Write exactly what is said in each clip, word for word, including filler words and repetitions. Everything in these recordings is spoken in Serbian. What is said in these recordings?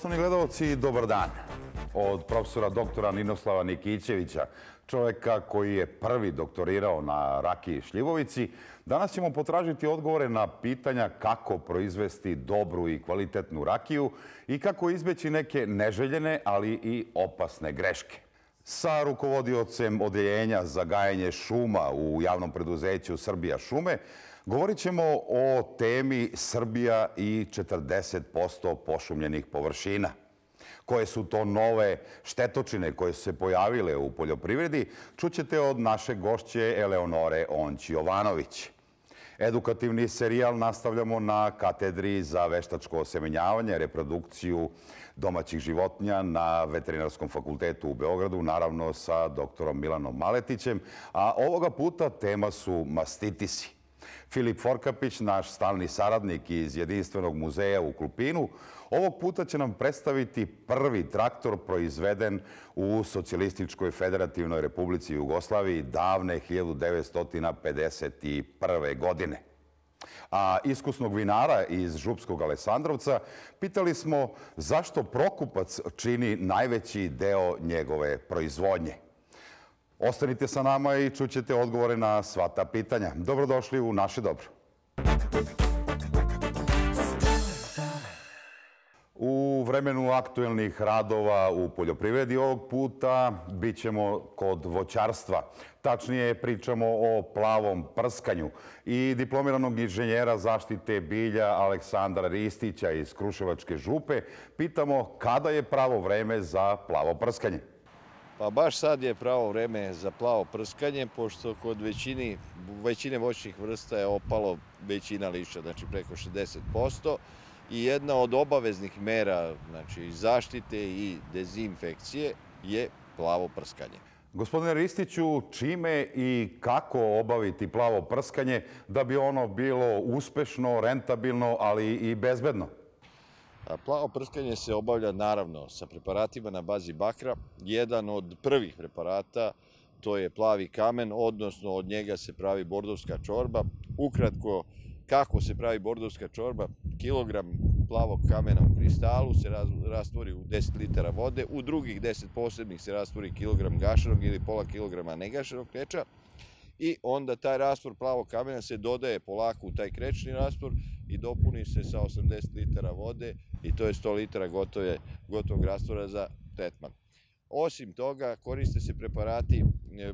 Poštovani gledalci, dobar dan. Od profesora doktora Ninoslava Nikićevića, čoveka koji je prvi doktorirao na rakiji šljivovici, danas ćemo potražiti odgovore na pitanja kako proizvesti dobru i kvalitetnu rakiju i kako izbeći neke neželjene, ali i opasne greške. Sa rukovodiocem odeljenja za gajenje šuma u javnom preduzeću Srbija šume govorit ćemo o temi Srbija i četrdeset posto pošumljenih površina. Koje su to nove štetočine koje su se pojavile u poljoprivredi, čućete od naše gošće Eleonore Onć-Jovanović. Edukativni serijal nastavljamo na katedri za veštačko osemenjavanje, reprodukciju domaćih životinja na Veterinarskom fakultetu u Beogradu, naravno sa doktorom Milanom Maletićem, a ovoga puta tema su mastitisi. Filip Forkapić, naš stalni saradnik iz Jedinstvenog muzeja u Klupinu, ovog puta će nam predstaviti prvi traktor proizveden u Socijalističkoj federativnoj republici Jugoslaviji davne hiljadu devetsto pedeset prve. godine. A iskusnog vinara iz Župskog Alesandrovca pitali smo zašto Prokupac čini najveći deo njegove proizvodnje. Ostanite sa nama i čućete odgovore na sva ta pitanja. Dobrodošli u Naše dobro. U vremenu aktuelnih radova u poljoprivredi ovog puta bit ćemo kod voćarstva. Tačnije pričamo o plavom prskanju i diplomiranog inženjera zaštite bilja Aleksandra Ristića iz Kruševačke župe pitamo kada je pravo vreme za plavo prskanje. Pa baš sad je pravo vreme za plavo prskanje, pošto kod većini, većine voćnih vrsta je opalo većina lišća, znači preko šezdeset posto. I jedna od obaveznih mera, znači zaštite i dezinfekcije, je plavo prskanje. Gospodine Ristiću, čime i kako obaviti plavo prskanje da bi ono bilo uspešno, rentabilno, ali i bezbedno? Plavo prskanje se obavlja naravno sa preparatima na bazi bakra. Jedan od prvih preparata to je plavi kamen, odnosno od njega se pravi bordovska čorba. Ukratko, kako se pravi bordovska čorba? Kilogram plavog kamena u kristalu se rastvori u deset litara vode, u drugih deset posebnih se rastvori kilogram gašenog ili pola kilograma negašenog kreča i onda taj rastvor plavog kamena se dodaje polako u taj krečni rastvor i dopuni se sa osamdeset litara vode i to je sto litara gotovog rastvora za tretman. Osim toga, koriste se preparati,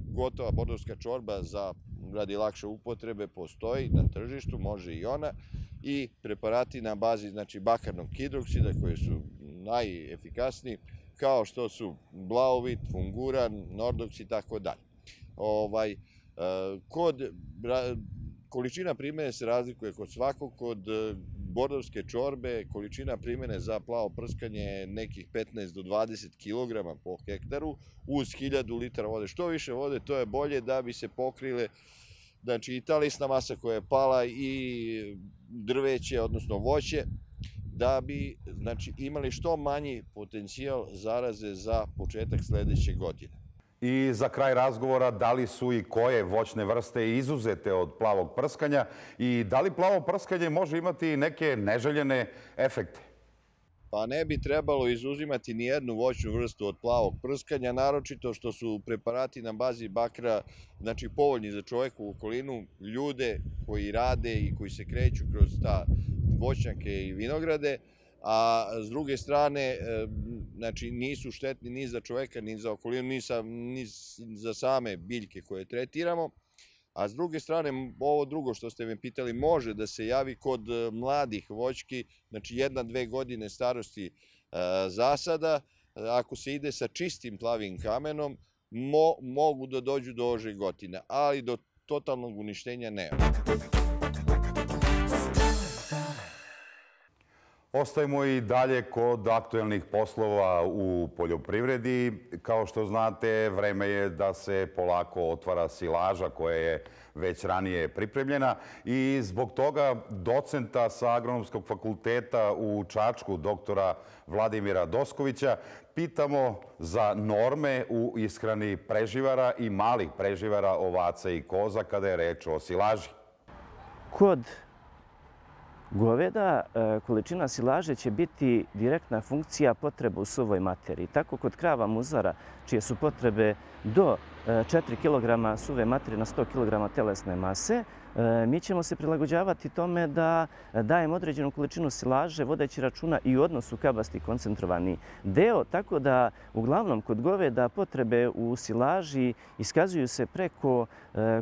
gotova bordovska čorba za radi lakše upotrebe postoji na tržištu, može i ona, i preparati na bazi znači bakarnog hidroksida koji su najefikasniji, kao što su Blaovit, Funguran, Nordox i tako dalje. Ovaj, kod količina primene se razlikuje kod svakog, kod bordovske čorbe količina primene za plavo prskanje je nekih petnaest do dvadeset kilograma po hektaru uz hiljadu litara vode. Što više vode, to je bolje da bi se pokrile znači i ta lisna masa koja je pala i drveće, odnosno voće, da bi znači, imali što manji potencijal zaraze za početak sledeće godine. I za kraj razgovora, da li su i koje voćne vrste izuzete od plavog prskanja i da li plavo prskanje može imati neke neželjene efekte? Pa ne bi trebalo izuzimati ni jednu voćnu vrstu od plavog prskanja, naročito što su preparati na bazi bakra znači povoljni za čoveku u okolinu, ljude koji rade i koji se kreću kroz ta voćnjake i vinograde, a s druge strane znači nisu štetni ni za čoveka, ni za okolinu, ni za same biljke koje tretiramo. A s druge strane, ovo drugo što ste me pitali može da se javi kod mladih voćki, znači jedna, dve godine starosti zasada. Ako se ide sa čistim plavim kamenom, mogu da dođu do ožegotina, ali do totalnog uništenja nema. Ostajemo i dalje kod aktuelnih poslova u poljoprivredi. Kao što znate, vreme je da se polako otvara silaža koja je već ranije pripremljena i zbog toga docenta sa Agronomskog fakulteta u Čačku, doktora Vladimira Doskovića, pitamo za norme u ishrani preživara i malih preživara, ovaca i koza kada je reč o silaži. Kod goveda, količina silaže će biti direktna funkcija potreba u suvoj materiji. Tako kod krava muzara, čije su potrebe do četiri kilograma suve materije na sto kilograma telesne mase, mi ćemo se prilagođavati tome da dajemo određenu količinu silaže vodeći računa i u odnosu kabasti koncentrovani deo, tako da uglavnom kod goveda potrebe u silaži iskazuju se preko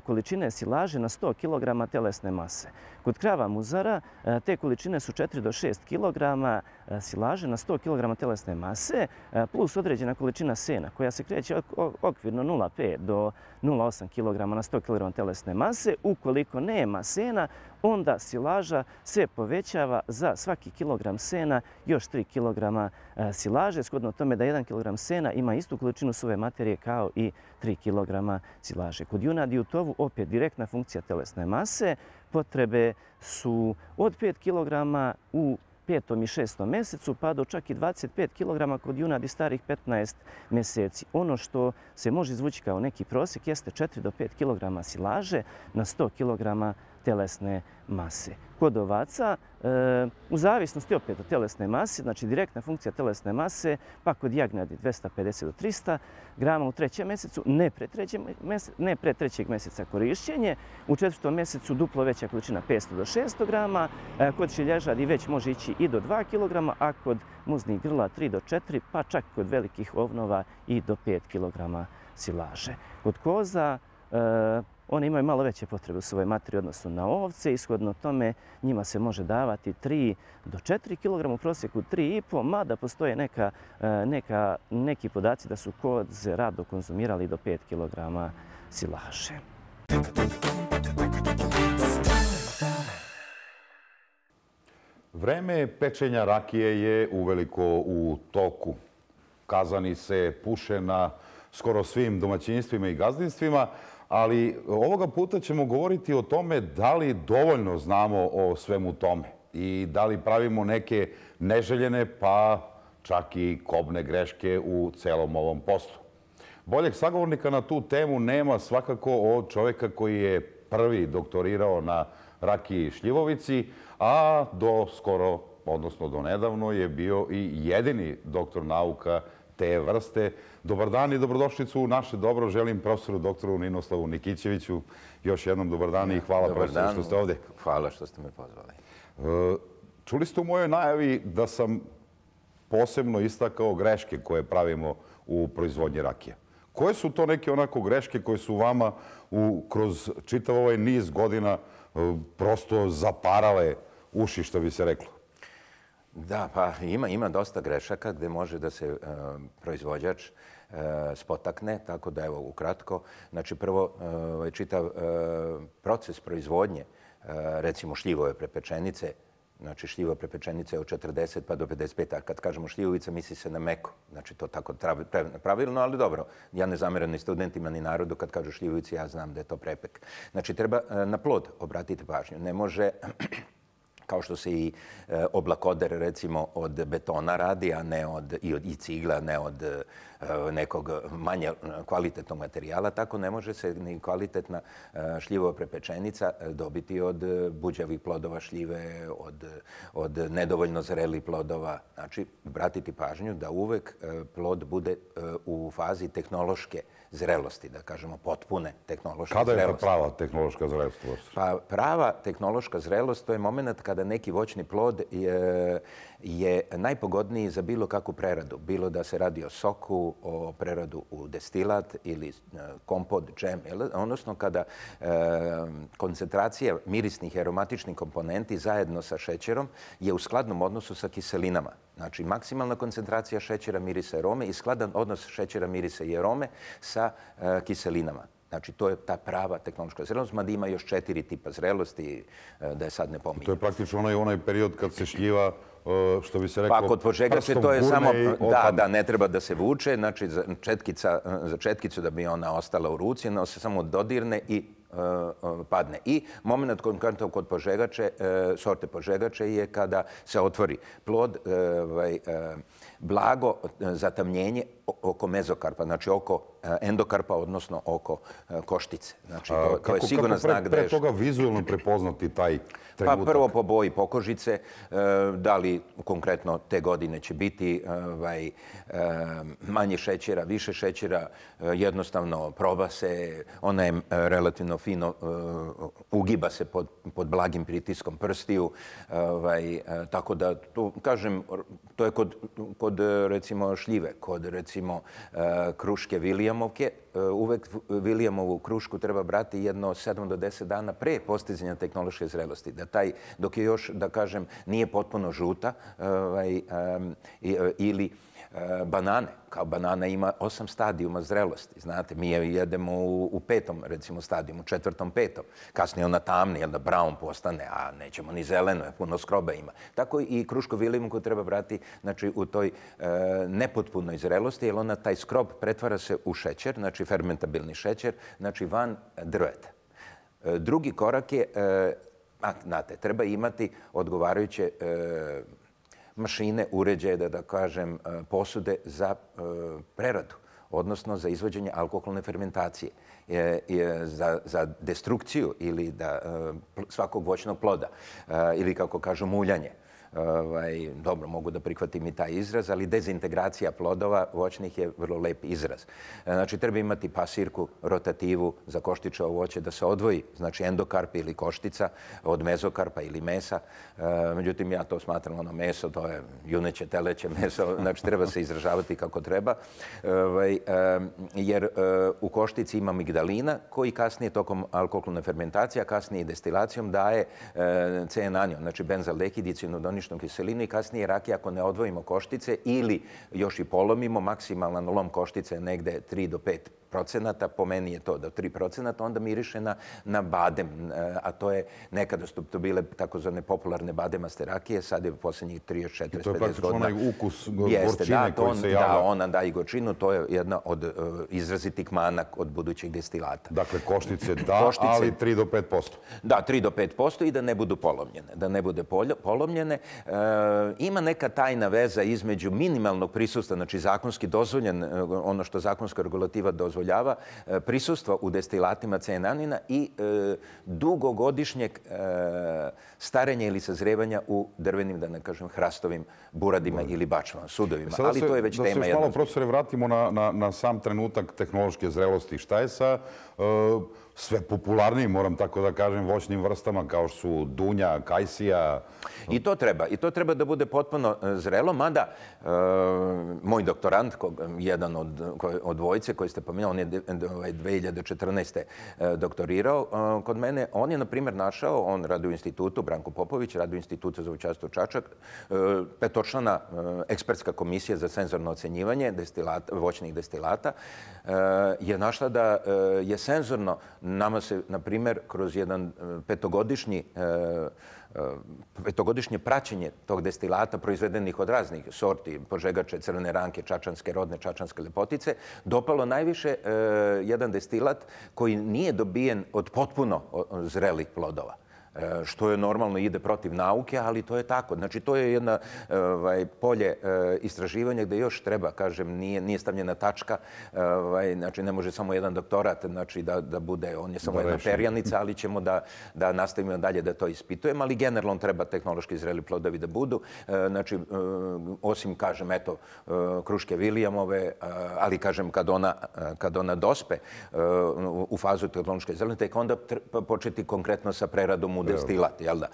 količine silaže na sto kilograma telesne mase. Kod krava muzara te količine su četiri do šest kilograma silaže na sto kilograma telesne mase plus određena količina sena koja se kreće okvirno nula zarez pet do nula zarez osam kilograma na sto kilograma telesne mase. Ukoliko nema sena, onda silaža se povećava za svaki kilogram sena još tri kilograma silaže, shodno tome da jedan kilogram sena ima istu količinu suve materije kao i tri kilograma silaže. Kod junadi u tovu opet direktna funkcija telesne mase. Potrebe su od pet kilograma u petom i šestom mjesecu pa do čak i dvadeset pet kilograma kod junadi starih petnaest mjeseci. Ono što se može izvući kao neki prosjek jeste četiri do pet kilograma silaže na sto kilograma telesne mase. Kod ovaca, u zavisnosti opet od telesne mase, znači direktna funkcija telesne mase, pa kod jagnjadi dvesta pedeset do trista grama u trećem mjesecu, ne pre, ne pre trećeg mjeseca korišćenje, u četvrtom mjesecu duplo veća količina petsto do šesto grama, kod šilježadi već može ići i do dva kilograma, a kod muznih grla tri do četiri, pa čak kod velikih ovnova i do pet kilograma silaže. Kod koza, one imaju malo veće potrebe u svojoj materiji odnosno na ovce. Ishodno tome njima se može davati tri do četiri kilograma, u prosjeku tri i po, mada postoje neka, neka, neki podaci da su koze rado konzumirali do pet kilograma silaže. Vreme pečenja rakije je uveliko u toku. Kazani se puše na skoro svim domaćinstvima i gazdinstvima, ali ovoga puta ćemo govoriti o tome da li dovoljno znamo o svemu tome i da li pravimo neke neželjene pa čak i kobne greške u celom ovom poslu. Boljeg sagovornika na tu temu nema svakako od čovjeka koji je prvi doktorirao na rakiji šljivovici, a do skoro, odnosno do nedavno, je bio i jedini doktor nauka te vrste. Dobar dan i dobrodošlicu u naše dobro. Želim profesoru doktoru Ninoslavu Nikićeviću još jednom dobar dan i hvala profesoru što ste ovdje. Hvala što ste me pozvali. Čuli ste u mojoj najavi da sam posebno istakao greške koje pravimo u proizvodnji rakije. Koje su to neke onako greške koje su vama kroz čitav ovaj niz godina prosto zaparale uši, što bi se reklo? Da, pa ima, ima dosta grešaka gdje može da se proizvođač spotakne, tako da evo ukratko. Znači prvo čitav proces proizvodnje, recimo šljivove prepečenice, znači šljivo prepečenice od četrdeset pa do pedeset pet, a kad kažemo šljivovica misli se na meko. Znači to tako pravilno, ali dobro. Ja ne zamjeram ni studentima ni narodu kad kažu šljivovici, ja znam da je to prepek. Znači treba na plod obratiti pažnju. Ne može, kao što se i oblakoder recimo od betona radi, a ne od, i od i cigla, ne od nekog manje kvalitetnog materijala, tako ne može se ni kvalitetna šljivova prepečenica dobiti od buđavih plodova šljive, od, od nedovoljno zrelih plodova. Znači, obratiti pažnju da uvek plod bude u fazi tehnološke zrelosti, da kažemo potpune tehnološke zrelosti. Kada je to prava tehnološka zrelost? Pa prava tehnološka zrelost to je moment kada neki voćni plod je, je najpogodniji za bilo kakvu preradu. Bilo da se radi o soku, o preradu u destilat ili kompot, džem, odnosno kada e, koncentracija mirisnih i aromatičnih komponenti zajedno sa šećerom je u skladnom odnosu sa kiselinama. Znači, maksimalna koncentracija šećera, mirisa i arome i skladan odnos šećera, mirisa i arome sa e, kiselinama. Znači, to je ta prava tehnološka zrelost, mada ima još četiri tipa zrelosti, da je sad ne pominjem. To je praktično onaj, onaj period kad se šljiva, što bi se reklo, pa kod požegače to je samo, da, da, ne treba da se vuče, znači za, četkica, za četkicu da bi ona ostala u ruci, ona se samo dodirne i uh, padne. I moment konkretno kod požegače, uh, sorte požegače je kada se otvori plod, uh, uh, blago zatamnjenje oko mezokarpa, znači oko endokarpa, odnosno oko koštice. Znači, to, to je sigurno znak da je... Kako pre toga vizualno prepoznati taj trenutak? Pa prvo po boji pokožice, da li konkretno te godine će biti ovaj, manje šećera, više šećera, jednostavno proba se, ona je relativno fino, ugiba se pod, pod blagim pritiskom prstiju, ovaj, tako da, tu, kažem, to je kod, kod recimo šljive, kod recimo kruške Williamovke, uvek Williamovu krušku treba brati jedno sedam do deset dana pre postizanja tehnološke zrelosti. Da taj, dok je još, da kažem, nije potpuno žuta ovaj, ili banane. Kao banana ima osam stadijuma zrelosti. Znate, mi je jedemo u, u petom, recimo, stadijumu, četvrtom, petom. Kasnije ona tamni, onda brown postane, a nećemo ni zeleno, puno skroba ima. Tako i krušku Williamovku treba brati, znači, u toj e, nepotpunoj zrelosti, jer ona taj skrob pretvara se u šećer, znači fermentabilni šećer, znači van drveta. E, drugi korak je, e, a, znate, treba imati odgovarajuće e, mašine, uređaje, da da kažem, posude za preradu, odnosno za izvođenje alkoholne fermentacije, za, za destrukciju ili da, svakog voćnog ploda ili, kako kažu, muljanje. Ovaj, dobro, mogu da prihvatim i taj izraz, ali dezintegracija plodova voćnih je vrlo lep izraz. Znači, treba imati pasirku, rotativu za koštičavo voće da se odvoji, znači endokarp ili koštica od mezokarpa ili mesa. Međutim, ja to smatram ono meso, to je juneće, teleće meso, znači treba se izražavati kako treba, ovaj, jer u koštici ima migdalina koji kasnije tokom alkoholne fermentacije, a kasnije i destilacijom daje C-enanion, znači benzaldehid i cinodoničnu kiselinu i kasnije rakija ako ne odvojimo koštice ili još i polomimo, maksimalan lom koštice je negde tri do pet procenata, po meni je to do tri procenata, onda miriše na, na badem, a to je nekada su to bile takozvane popularne bademaste rakije, sad je u posljednjih trideset, četrdeset, pedeset godina. I to je praktično onaj ukus gorčine da, koji on, se javlja. Da, ona da i gorčinu, to je jedna od uh, izrazitih mana od budućih destilata. Dakle, koštice da, koštice, ali tri do pet posto. Da, tri do pet posto i da ne budu polomljene. Da ne bude polomljene. E, ima neka tajna veza između minimalnog prisustva, znači zakonski dozvoljen, ono što zakonska regulativa dozvoljava, prisustva u destilatima C-enanina i e, dugogodišnjeg e, starenja ili sazrevanja u drvenim, da ne kažem, hrastovim buradima no. ili bačvama, sudovima. Sada ali se, to je već da tema jedna. Da se još malo, profesore, vratimo na, na, na sam trenutak tehnološke zrelosti. Šta je sa uh, sve popularnijim, moram tako da kažem, voćnim vrstama kao što su dunja, kajsija? I to treba. I to treba da bude potpuno zrelo, mada uh, moj doktorant, kog, jedan od, od dvojice koji ste pominjali, on je dve hiljade četrnaeste. doktorirao uh, kod mene. On je, na primjer, našao, on radi u institutu, Branko Popović, radi u institutu za voćarstvo Čačak, uh, petočlana uh, ekspertska komisija za senzorno ocenjivanje destilata, voćnih destilata, uh, je našla da uh, je senzorno nama se, na primjer, kroz jedan petogodišnji petogodišnje praćenje tog destilata proizvedenih od raznih sorti, požegače, crvene ranke, čačanske, rodne čačanske lepotice, dopalo najviše jedan destilat koji nije dobijen od potpuno zrelih plodova. Što je normalno, ide protiv nauke, ali to je tako. Znači, to je jedna ovaj, polje e, istraživanja gde još treba, kažem, nije, nije stavljena tačka. Ovaj, znači, ne može samo jedan doktorat znači, da, da bude, on je samo da jedna reši. perjanica, ali ćemo da, da nastavimo dalje da to ispitujemo. Ali generalno treba tehnološki zreli plodovi da budu. E, znači, e, osim, kažem, eto, e, kruške Williamove, ali, kažem, kad ona, kad ona dospe e, u fazu tehnološke zrelosti, tek onda početi konkretno sa preradom u destilat, jel da?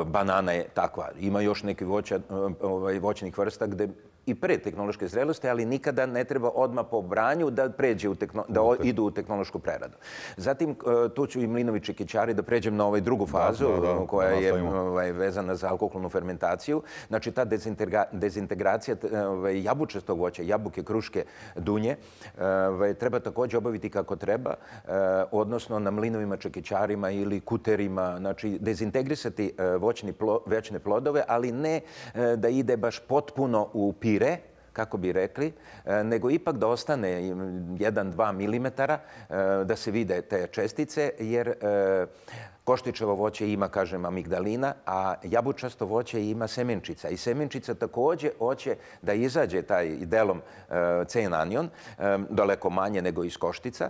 Banana je takva. Ima još neki voća, ovaj, voćnih vrsta gde i pre tehnološke zrelosti, ali nikada ne treba odmah po branju da pređe u tehno, da idu u tehnološku preradu. Zatim, tu ću i mlinovi čekićari da pređem na ovaj drugu fazu da, da, da, koja da je ovaj, vezana za alkoholnu fermentaciju. Znači, ta dezintegra, dezintegracija ovaj, jabučastog voća, jabuke, kruške, dunje, ovaj, treba također obaviti kako treba, odnosno na mlinovima čekićarima ili kuterima, znači dezintegrisati voćni plo, voćne plodove, ali ne da ide baš potpuno u pire, kako bi rekli, nego ipak da ostane jedan do dva milimetara da se vide te čestice, jer koštićevo voće ima, kažem, amigdalina, a jabučasto voće ima semenčica. I semenčica također hoće da izađe taj delom C-anion, daleko manje nego iz koštica.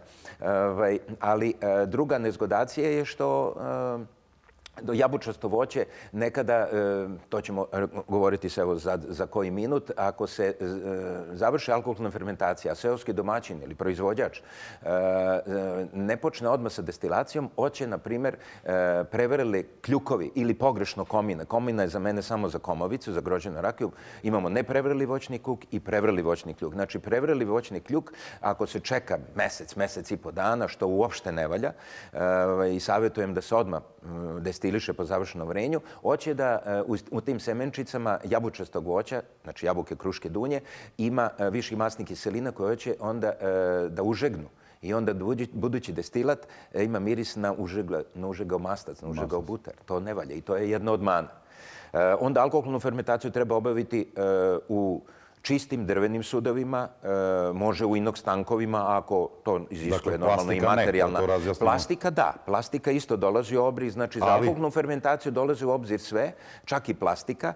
Ali druga nezgodacija je što jabučasto voće nekada, to ćemo govoriti se evo za koji minut, ako se završi alkoholna fermentacija, a seoski domaćin ili proizvođač ne počne odmah sa destilacijom, hoće, na primjer, prevreli kljukovi ili pogrešno komina. Komina je za mene samo za komovicu, za grožđenu rakiju. Imamo neprevreli voćni kljuk i prevreli voćni kljuk. Znači, prevreli voćni kljuk, ako se čeka mesec, mesec i po dana, što uopšte ne valja, i savjetujem da se odmah destiliše po završenom vrenju, hoće da u tim semenčicama jabučastog voća, znači jabuke, kruške, dunje, ima viši masnih kiselina koje hoće onda da užegnu. I onda budući destilat ima miris na užegao mastac, na užegao butar. To ne valja i to je jedna od mana. Onda alkoholnu fermentaciju treba obaviti u čistim drvenim sudovima, može u inox tankovima, ako to iziskuje normalno i materijalna. Plastika, da. Plastika isto dolazi u obzir. Znači, za alkoholnu fermentaciju dolazi u obzir sve, čak i plastika,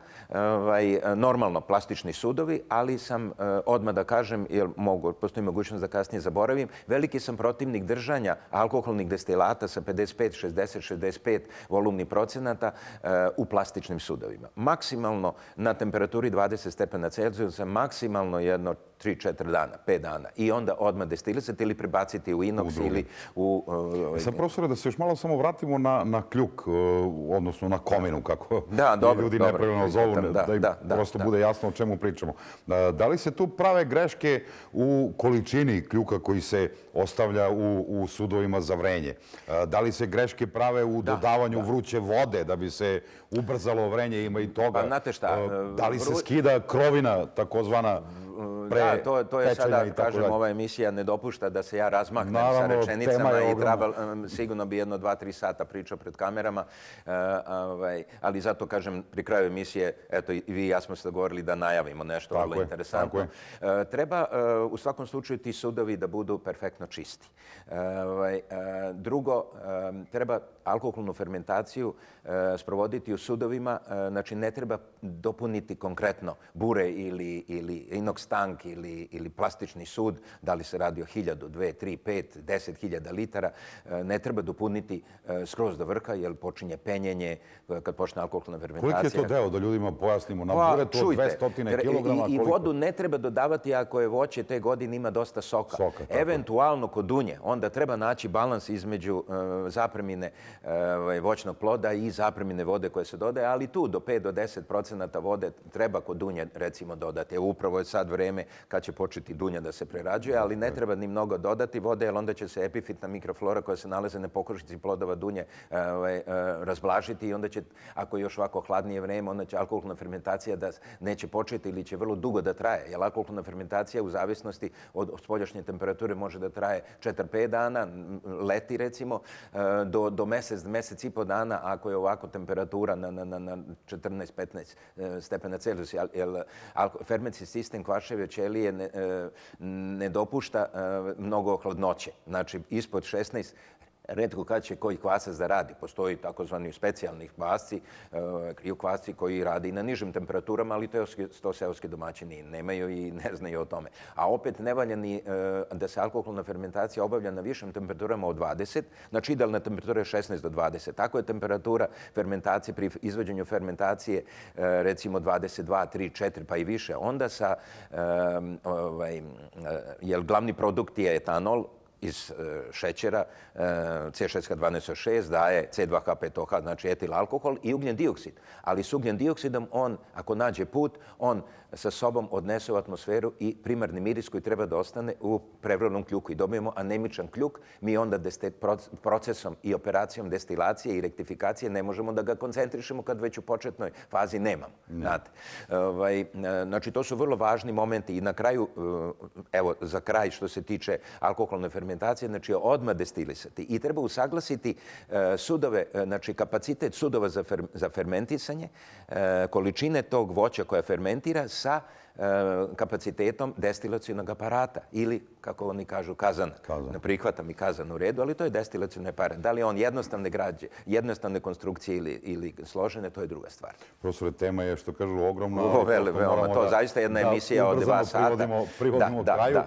normalno plastični sudovi, ali sam odmah da kažem, jer postoji mogućnost da kasnije zaboravim, veliki sam protivnik držanja alkoholnih destilata sa pedeset pet, šezdeset, šezdeset pet volumnih procenata u plastičnim sudovima. Maksimalno na temperaturi dvadeset stepena Celzijusa, maksimalno jedno tri četiri dana, pet dana. I onda odmah destilisati ili prebaciti u inox ili u... Sad, profesore, da se još malo samo vratimo na kljuk, odnosno na kominu, kako ljudi nepravilno zovu, da im prosto bude jasno o čemu pričamo. Da li se tu prave greške u količini kljuka koji se ostavlja u sudovima za vrenje? Da li se greške prave u dodavanju vruće vode da bi se ubrzalo vrenje? Ima i toga. Pa, znate šta? Da li se skida krovina, takozvana Da, to je sada, kažem, ova emisija ne dopušta da se ja razmaknem sa rečenicama i treba, sigurno bi jedno, dva, tri sata pričao pred kamerama, ali zato, kažem, pri kraju emisije, eto, i vi i ja smo se dogovorili da najavimo nešto vrlo interesantno. Treba, u svakom slučaju, ti sudovi da budu perfektno čisti. Drugo, treba alkoholnu fermentaciju sprovoditi u sudovima, znači ne treba dopuniti konkretno bure ili inox tank ili plastični sud, da li se radi o hiljadu, dve, tri, pet, deset hiljada litara, ne treba dopuniti skroz do vrha, jer počinje penjenje kad počne alkoholna fermentacija. Koliki je to deo, da ljudima pojasnimo? Na buretu od dvesta kilograma? I vodu ne treba dodavati ako je voće te godine ima dosta soka. Eventualno kod dunje, onda treba naći balans između zapremine voćnog ploda i zapremine vode koje se dodaje, ali tu do pet do deset procenata vode treba kod dunje, recimo, dodati. Upravo je sad vreme kad će početi dunja da se prerađuje, ali ne treba ni mnogo dodati vode, jer onda će se epifitna mikroflora koja se nalaze na pokošnici plodova dunje razblažiti i onda će, ako je još ovako hladnije vreme, onda će alkoholna fermentacija da neće početi ili će vrlo dugo da traje. Jer alkoholna fermentacija u zavisnosti od spoljašnje temperature može da traje četiri pet dana, leti recimo, do mesec, mesec i po dana, ako je ovako temperatura na četrnaest petnaest stepena Celzijusa. Fermentski sistem kvaševe ćelije ne dopušta mnogo hladnoće. Znači, ispod šesnaest, retko kad će koji kvasac da radi. Postoji takozvani specijalni kvasci, kriju kvasci koji radi na nižim temperaturama, ali to seoski domaćini nemaju i ne znaju o tome. A opet ne valja ni da se alkoholna fermentacija obavlja na višim temperaturama od dvadeset, znači idealna temperatura je šesnaest do dvadeset. Tako je temperatura fermentacije pri izvođenju fermentacije recimo dvadeset dva, tri, četiri pa i više. Onda sa, jer glavni produkt je etanol, iz šećera, C šest H dvanaest O šest daje C dva H pet O H, znači etil alkohol i ugljen dioksid. Ali s ugljen dioksidom on, ako nađe put, on sa sobom odnese u atmosferu i primarni miris koji treba da ostane u prevremenom kljuku i dobijemo anemičan kljuk. Mi onda procesom i operacijom destilacije i rektifikacije ne možemo da ga koncentrišemo kad već u početnoj fazi nemamo. Znači, to su vrlo važni momenti i na kraju, evo, za kraj što se tiče alkoholne fermentacije, znači odmah destilisati i treba usaglasiti sudove, znači kapacitet sudova za fermentisanje, količine tog voća koja fermentira sa kapacitetom destilacionog aparata ili, kako oni kažu, kazana. Ne prihvatam i kazan u redu, ali to je destilacioni aparat. Da li je on jednostavne građe, jednostavne konstrukcije ili složene, to je druga stvar. Profesore, tema je, što kažu, ogromna. Ovo vele, veoma. To zaista jedna emisija od dva sata. Privodimo kraju.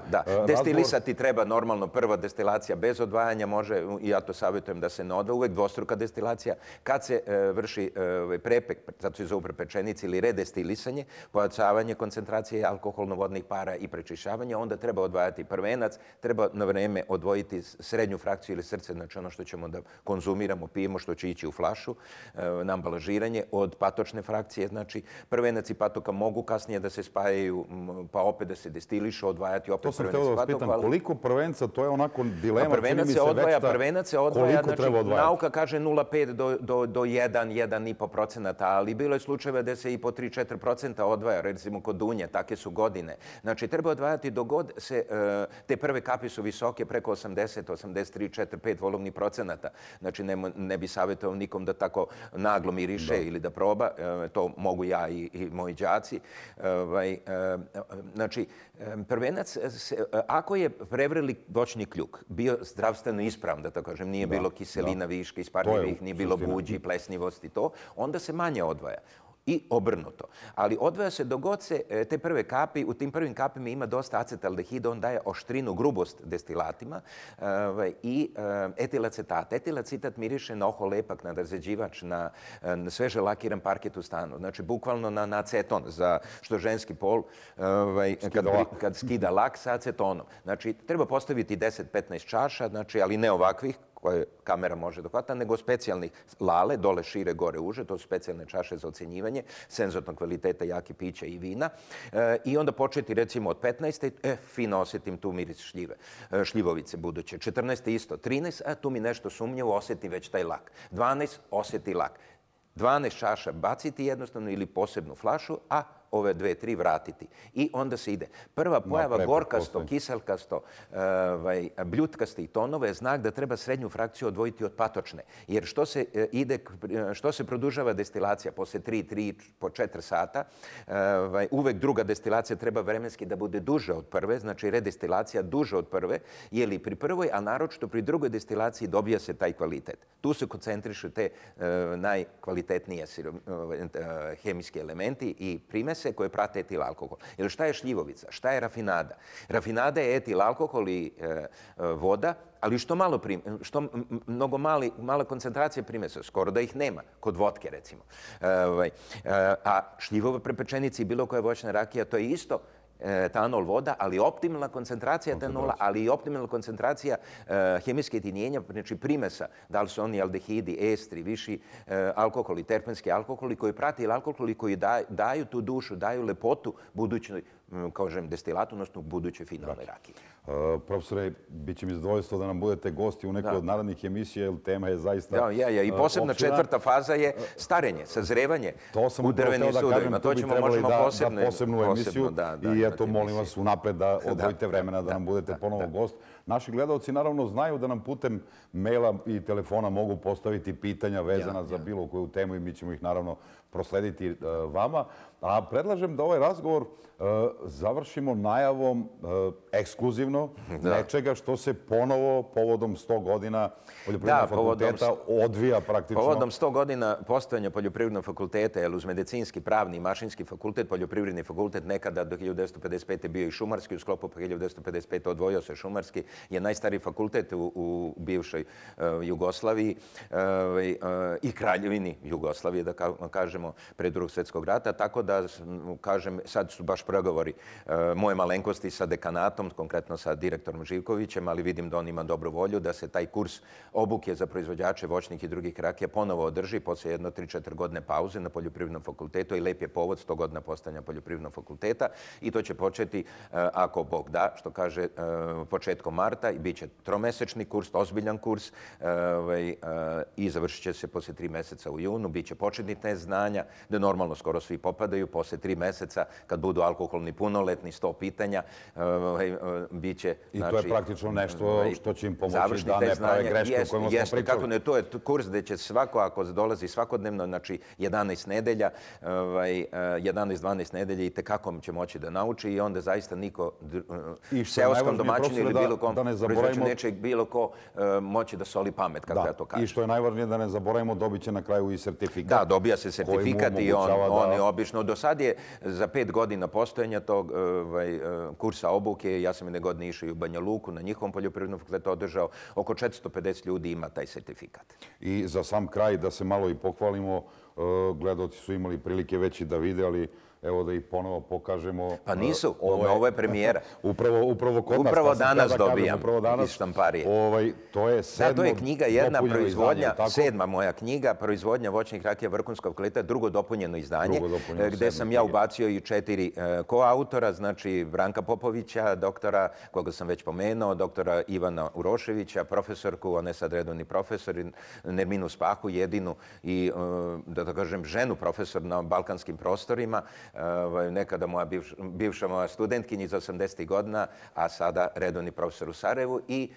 Destilisati treba normalno prva destilacija bez odvajanja, može, i ja to savjetujem da se ne odvaja, uvek dvostruka destilacija. Kad se vrši prepek, zato se zove prepečenici ili redestilisanje, pojačavanje koncentracije alkoholno-vodnih para i prečišćavanje, onda treba odvajati prvenac, treba na vreme odvojiti srednju frakciju ili srce, znači ono što ćemo da konzumiramo, pijemo, što će ići u flašu, na ambalažiranje, od patočne frakcije, znači prvenac i patoka mogu kasnije da se spajaju, pa opet da se destilišu, odvajati opet prvenac i patoka. To sam htio da vas pitam, koliko prvenca, to je onako dilema, čini mi se odvaja, prvenac se odvaja, znači nauka kaže nula zarez pet do jedan, jedan i po procenata, ali bilo je slučajeva da se i po tri do četiri procenta odvaja, recimo kod dunje, take su godine. Znači, treba odvajati dok god se, te prve kapi su visoke, preko osamdeset, osamdeset tri, četiri, pet volovnih procenata. Znači, ne bi savjetovao nikom da tako naglo miriše ili da proba, to mogu ja i moji đaci. Znači, prvenac, ako je prevreli voćni kljuk, bio zdravstveno ispravan, da tako kažem, nije bilo kiselina viška, isparljivih, nije bilo buđi, plesnivosti, to, onda se manje odvaja. I obrnuto. Ali odvaja se dogod se te prve kapi, u tim prvim kapima ima dosta acetaldehida, on daje oštrinu, grubost destilatima i etilacetat. Etilacetat miriše na oho lepak, na razređivač, na sveže lakiran parket u stanu. Znači, bukvalno na aceton, za što ženski pol, kad skida lak sa acetonom. Znači, treba postaviti deset do petnaest čaša, ali ne ovakvih, koje kamera može dohvatati, nego specijalnih lale, dole šire, gore uže, to su specijalne čaše za ocjenjivanje senzornog kvaliteta jake pića i vina. I onda početi recimo od petnaeste, e, fino osjetim tu miris šljive, šljivovice buduće. četrnaeste isto, trinaest, a tu mi nešto sumnjivo, osjetim već taj lak. dvanaest, osjeti lak. dvanaest čaša baciti jednostavno ili posebnu flašu, a ove dve, tri vratiti. I onda se ide. Prva pojava gorkasto, kiselkasto, bljutkasti tonova je znak da treba srednju frakciju odvojiti od patočne. Jer što se ide, što se produžava destilacija posle tri, tri, po četiri sata, uvek druga destilacija treba vremenski da bude duža od prve, znači redestilacija duža od prve, jer i pri prvoj, a naročito pri drugoj destilaciji dobija se taj kvalitet. Tu se koncentrišu te najkvalitetnije hemijski elementi i primese koje prate etil alkohol. Jer šta je šljivovica? Šta je rafinada? Rafinada je etil alkohol i voda, ali što malo primesa, što mnogo mala koncentracija primesa, skoro da ih nema, kod vodke recimo. A šljivova prepečenica i bilo koja voćna rakija, to je isto etanol, voda, ali optimalna koncentracija etanola, ali i optimalna koncentracija hemijske jedinjenja, znači primesa, da li su oni aldehidi, estri, viši alkoholi, terpenski alkoholi koji prati alkoholi koji daju tu dušu, daju lepotu budućnoj, kažem, destilatu, odnosno budućoj finalnoj rakiji. Profesore, bit će mi zadovoljstvo da nam budete gosti u nekoj od narednih emisija, jer tema je zaista opširna. Ja, ja, i posebna četvrta faza je starenje, sazrevanje u drvenim sudovima. To ćemo, možemo posebnu emisiju i eto, molim vas unapred da odvojite vremena da nam budete ponovo gost. Naši gledalci naravno znaju da nam putem maila i telefona mogu postaviti pitanja vezana za bilo koju temu i mi ćemo ih naravno proslediti vama. A predlažem da ovaj razgovor završimo najavom ekskluzivno nečega što se ponovo povodom sto godina Poljoprivrednog fakulteta odvija praktično. Povodom sto godina postojanja Poljoprivrednog fakulteta, jer uz medicinski, pravni i mašinski fakultet, Poljoprivredni fakultet nekada do hiljadu devetsto pedeset pete bio i šumarski, u sklopu hiljadu devetsto pedeset pete odvojio se šumarski, je najstariji fakultet u bivšoj Jugoslaviji i kraljevini Jugoslavije, da kažemo, pre Drugog svjetskog rata, tako da, kažem, sad su baš pregovori moje malenkosti sa dekanatom, konkretno sa direktorom Živkovićem, ali vidim da on ima dobru volju da se taj kurs obuke za proizvođače voćnih i drugih rakija ponovo održi posle jedno tri četiri godine pauze na Poljoprivrednom fakultetu i lep je povod sto godina postojanja Poljoprivrednog fakulteta i to će početi, ako Bog da, što kaže, početkom marta i bit će tromesečni kurs, ozbiljan kurs i završit će se posle tri meseca u junu, bit će početni test znanja, da normalno skoro svi popadaju ispitaju, posle tri meseca, kad budu alkoholni punoletni, sto pitanja, bit će... I to je praktično nešto što će im pomoći da ne prave greške o kojima smo pričali. Kako ne, to je kurs gde će svako, ako dolazi svakodnevno, znači jedanaest nedelja, jedanaest dvanaest nedelja i tekako će moći da nauči i onda zaista niko seoskom domaćinu ili bilo kom proizvođaču neće bilo ko moći da soli pamet, kako ja to kažem. I što je najvažnije da ne zaboravimo, dobit će na kraju i sertifikat. Da, dobija se sertifikat i on je obično. Do sad je za pet godina postojanja tog kursa obuke, ja sam jedne godine išao i u Banja Luku, na njihovom poljoprivrednom fakultetu održao, oko četiristo pedeset ljudi ima taj sertifikat. I za sam kraj, da se malo i pohvalimo, gledaoci su imali prilike već i da vide, ali evo da ih ponovo pokažemo. Pa nisu, ovo je premijera. Upravo kod nas. Upravo danas dobijam iz štamparije. To je sedmo. Da, to je knjiga jedna, proizvodnja, sedma moja knjiga, proizvodnja voćnih rakija vrhunskog kvaliteta, drugo dopunjeno izdanje, gde sam ja ubacio i četiri koautora, znači Branka Popovića, doktora, koga sam već pomenuo, doktora Ivana Uroševića, profesorku, on je sad redovni profesor, Nerminu Spahu, jedinu i, da to kažem, ženu profesor na balkanskim prostorima, nekada moja bivša moja studentkinja iz osamdesetih godina, a sada redovni profesor u Sarajevu i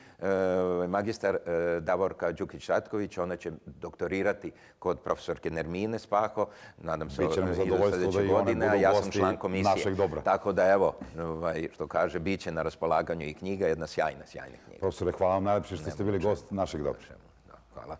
magistar Davorka Đukić-Ratković. Ona će doktorirati kod profesorke Nermine Spaho. Nadam se i do sledeće godine, a ja sam član komisije. Tako da, evo, što kaže, bit će na raspolaganju i knjiga, jedna sjajna, sjajna knjiga. Profesore, hvala vam najlepše što ste bili gost našeg dobra. Hvala.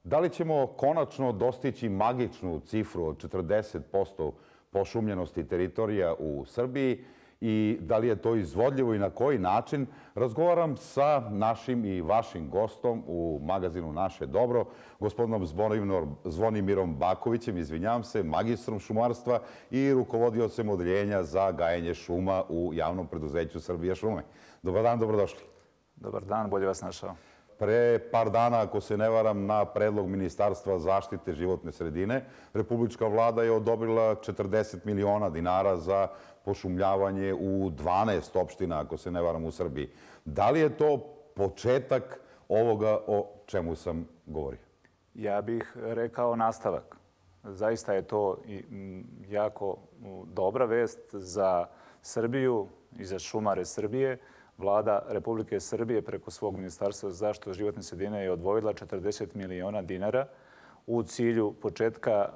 Da li ćemo konačno dostići magičnu cifru od četrdeset posto pošumljenosti teritorija u Srbiji i da li je to izvodljivo i na koji način, razgovaram sa našim i vašim gostom u magazinu Naše dobro, gospodinom Zvonimirom Bakovićem, izvinjavam se, magistrom šumarstva i rukovodiocem odeljenja za gajenje šuma u javnom preduzeću Srbija šume. Dobar dan, dobrodošli. Dobar dan, bolje vas našao. Pre par dana, ako se ne varam, na predlog Ministarstva zaštite životne sredine, Republička vlada je odobrila četrdeset miliona dinara za pošumljavanje u dvanaest opština, ako se ne varam, u Srbiji. Da li je to početak ovoga o čemu sam govorio? Ja bih rekao nastavak. Zaista je to jako dobra vest za Srbiju i za šumare Srbije. Vlada Republike Srbije preko svog Ministarstva za zaštitu životne sredine je odvojila četrdeset miliona dinara u cilju početka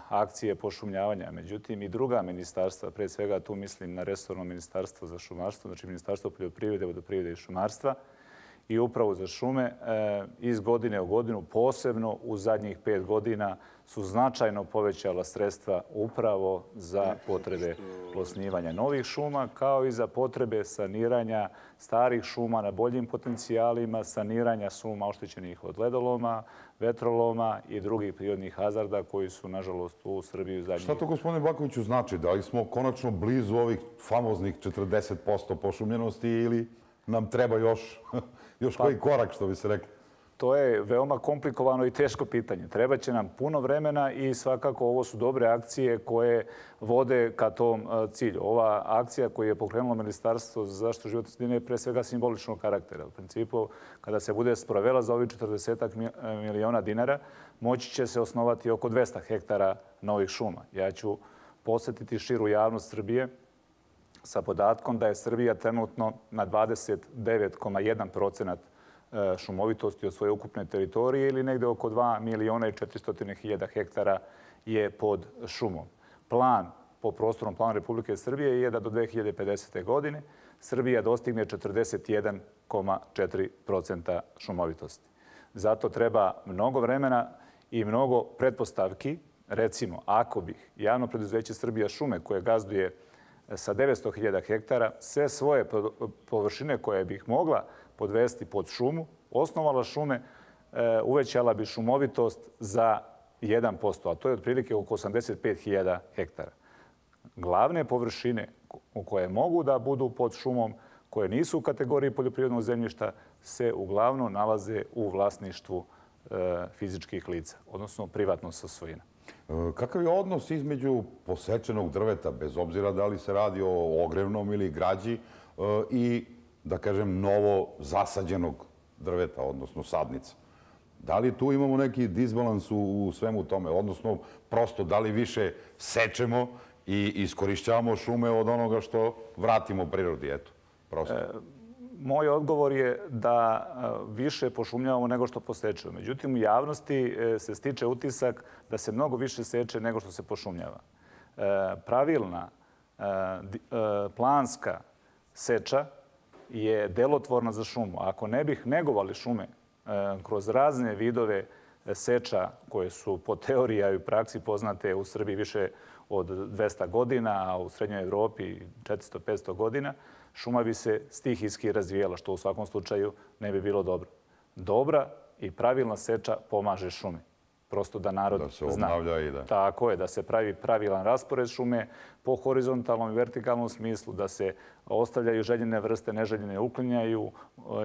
akcije pošumljavanja. Međutim, i druga ministarstva, pre svega tu mislim na resorno Ministarstvo za šumarstvo, znači Ministarstvo poljoprivrede, vodoprivrede i šumarstva i upravo za šume, iz godine u godinu, posebno u zadnjih pet godina, su značajno povećala sredstva upravo za potrebe osnivanja novih šuma, kao i za potrebe saniranja starih šuma na boljim potencijalima, saniranja šuma oštećenih od ledoloma, vetroloma i drugih prirodnih hazarda koji su, nažalost, u Srbiji u zadnjih... Šta to, gospodine Bakoviću, znači? Da li smo konačno blizu ovih famoznih četrdeset posto pošumljenosti ili nam treba još, još koji korak, što bi se rekli? To je veoma komplikovano i teško pitanje. Treba će nam puno vremena i svakako ovo su dobre akcije koje vode ka tom cilju. Ova akcija koju je pokrenulo Ministarstvo za zaštitu životne sredine je pre svega simboličnog karaktera. U principu, kada se bude sprovela za ovih četrdeset miliona dinara, moći će se osnovati oko dvesta hektara novih šuma. Ja ću posjetiti širu javnost Srbije sa podatkom da je Srbija trenutno na dvadeset devet zarez jedan procenat šumovitosti od svoje ukupne teritorije ili negde oko dva miliona i četiristo hiljada hektara je pod šumom. Plan po prostornom planu Republike Srbije je da do dve hiljade pedesete. godine Srbija dostigne četrdeset jedan zarez četiri procenta šumovitosti. Zato treba mnogo vremena i mnogo pretpostavki. Recimo, ako bih javno preduzeće Srbija šume koje gazduje sa devetsto hiljada hektara sve svoje površine koje bih mogla podvesti pod šumu, osnovala šume, uvećala bi šumovitost za jedan posto, a to je otprilike oko osamdeset pet hiljada hektara. Glavne površine koje mogu da budu pod šumom, koje nisu u kategoriji poljoprivrednog zemljišta, se uglavnom nalaze u vlasništvu fizičkih lica, odnosno privatnog svojina. Kakav je odnos između posečenog drveta, bez obzira da li se radi o ogrevnom ili građi, i, da kažem, novo zasađenog drveta, odnosno sadnica? Da li tu imamo neki disbalans u svemu tome? Odnosno, prosto, da li više sečemo i iskorišćavamo šume od onoga što vratimo prirodi, eto, prosto. Moj odgovor je da više pošumljavamo nego što posečemo. Međutim, u javnosti se stiče utisak da se mnogo više seče nego što se pošumljava. Pravilna, planska seča je delotvorna za šumu. Ako ne bih negovali šume kroz razne vidove seča koje su po teoriji i u praksi poznate u Srbiji više od dvesta godina, a u Srednjoj Evropi četiristo do petsto godina, šuma bi se stihijski razvijela, što u svakom slučaju ne bi bilo dobro. Dobra i pravilna seča pomaže šumi. Prosto da narod zna. Da se obnavlja i da... Tako je, da se pravi pravilan raspored šume po horizontalnom i vertikalnom smislu, da se ostavljaju željene vrste, neželjene uklanjaju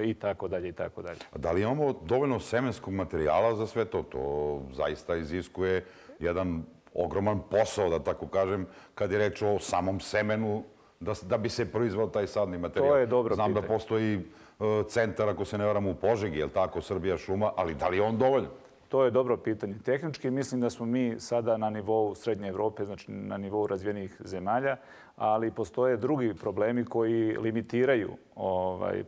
i tako dalje i tako dalje. Da li imamo dovoljno semenskog materijala za sve to? To zaista iziskuje jedan ogroman posao, da tako kažem, kad je reč o samom semenu, da bi se proizvao taj sadni materijal. To je dobro pitanje. Znam da postoji centar, ako se ne varam, u Požegi, je li tako, Srbija šuma, ali da li je on dovoljan? To je dobro pitanje. Tehnički mislim da smo mi sada na nivou Srednje Evrope, znači na nivou razvijenih zemalja, ali postoje drugi problemi koji limitiraju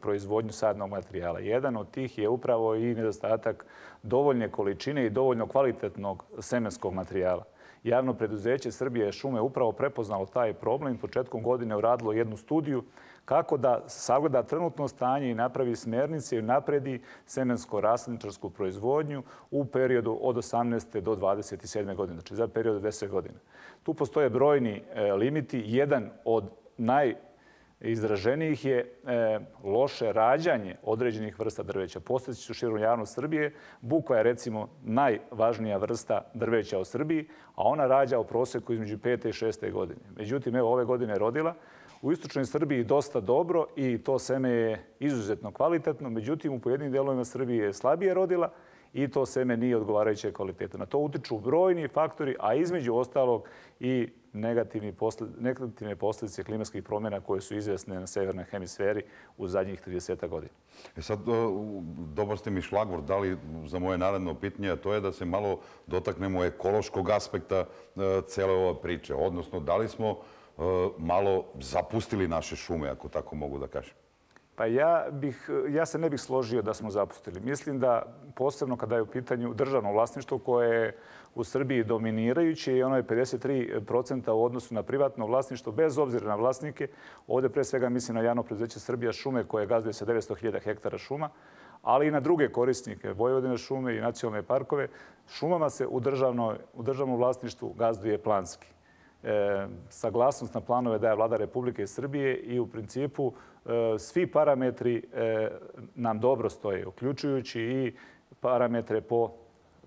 proizvodnju sadnog materijala. Jedan od tih je upravo i nedostatak dovoljne količine i dovoljno kvalitetnog semenskog materijala. Javno preduzeće Srbije šume upravo prepoznalo taj problem i početkom godine uradilo jednu studiju kako da sagleda trenutno stanje i napravi smernice i napredi semensko-rasledničarsku proizvodnju u periodu od osamnaeste do dvadeset sedme godine, znači za period od deset godina. Tu postoje brojni limiti. Jedan od najizraženijih je loše rađanje određenih vrsta drveća. Postojeći su širom javnost Srbije. Bukva je recimo najvažnija vrsta drveća u Srbiji, a ona rađa u proseku između pete i šeste godine. Međutim, evo ove godine je rodila. U istočnoj Srbiji dosta dobro i to seme je izuzetno kvalitetno. Međutim, u pojedinim delovima Srbije je slabije rodila i to seme nije odgovarajuće kvalitete. Na to utiču brojni faktori, a između ostalog i negativne posljedice klimatskih promjena koje su izvesne na severnoj hemisferi u zadnjih trideset godina. E sad, dobar ste mi šlagvort dali za moje naredno pitanje, a to je da se malo dotaknemo ekološkog aspekta cele ove priče. Odnosno, da li smo malo zapustili naše šume, ako tako mogu da kažem? Pa ja, bih, ja se ne bih složio da smo zapustili. Mislim da posebno kada je u pitanju državno vlasništvo koje je u Srbiji dominirajuće i ono je pedeset tri posto u odnosu na privatno vlasništvo, bez obzira na vlasnike. Ovdje pre svega mislim na javno preduzeće Srbija šume koje gazduje sa devetsto hiljada hektara šuma, ali i na druge korisnike, Vojvodine šume i nacionalne parkove. Šumama se u, u državnom vlasništvu gazduje planski. E, saglasnost na planove daje Vlada Republike Srbije i u principu e, svi parametri e, nam dobro stoje, uključujući i parametre po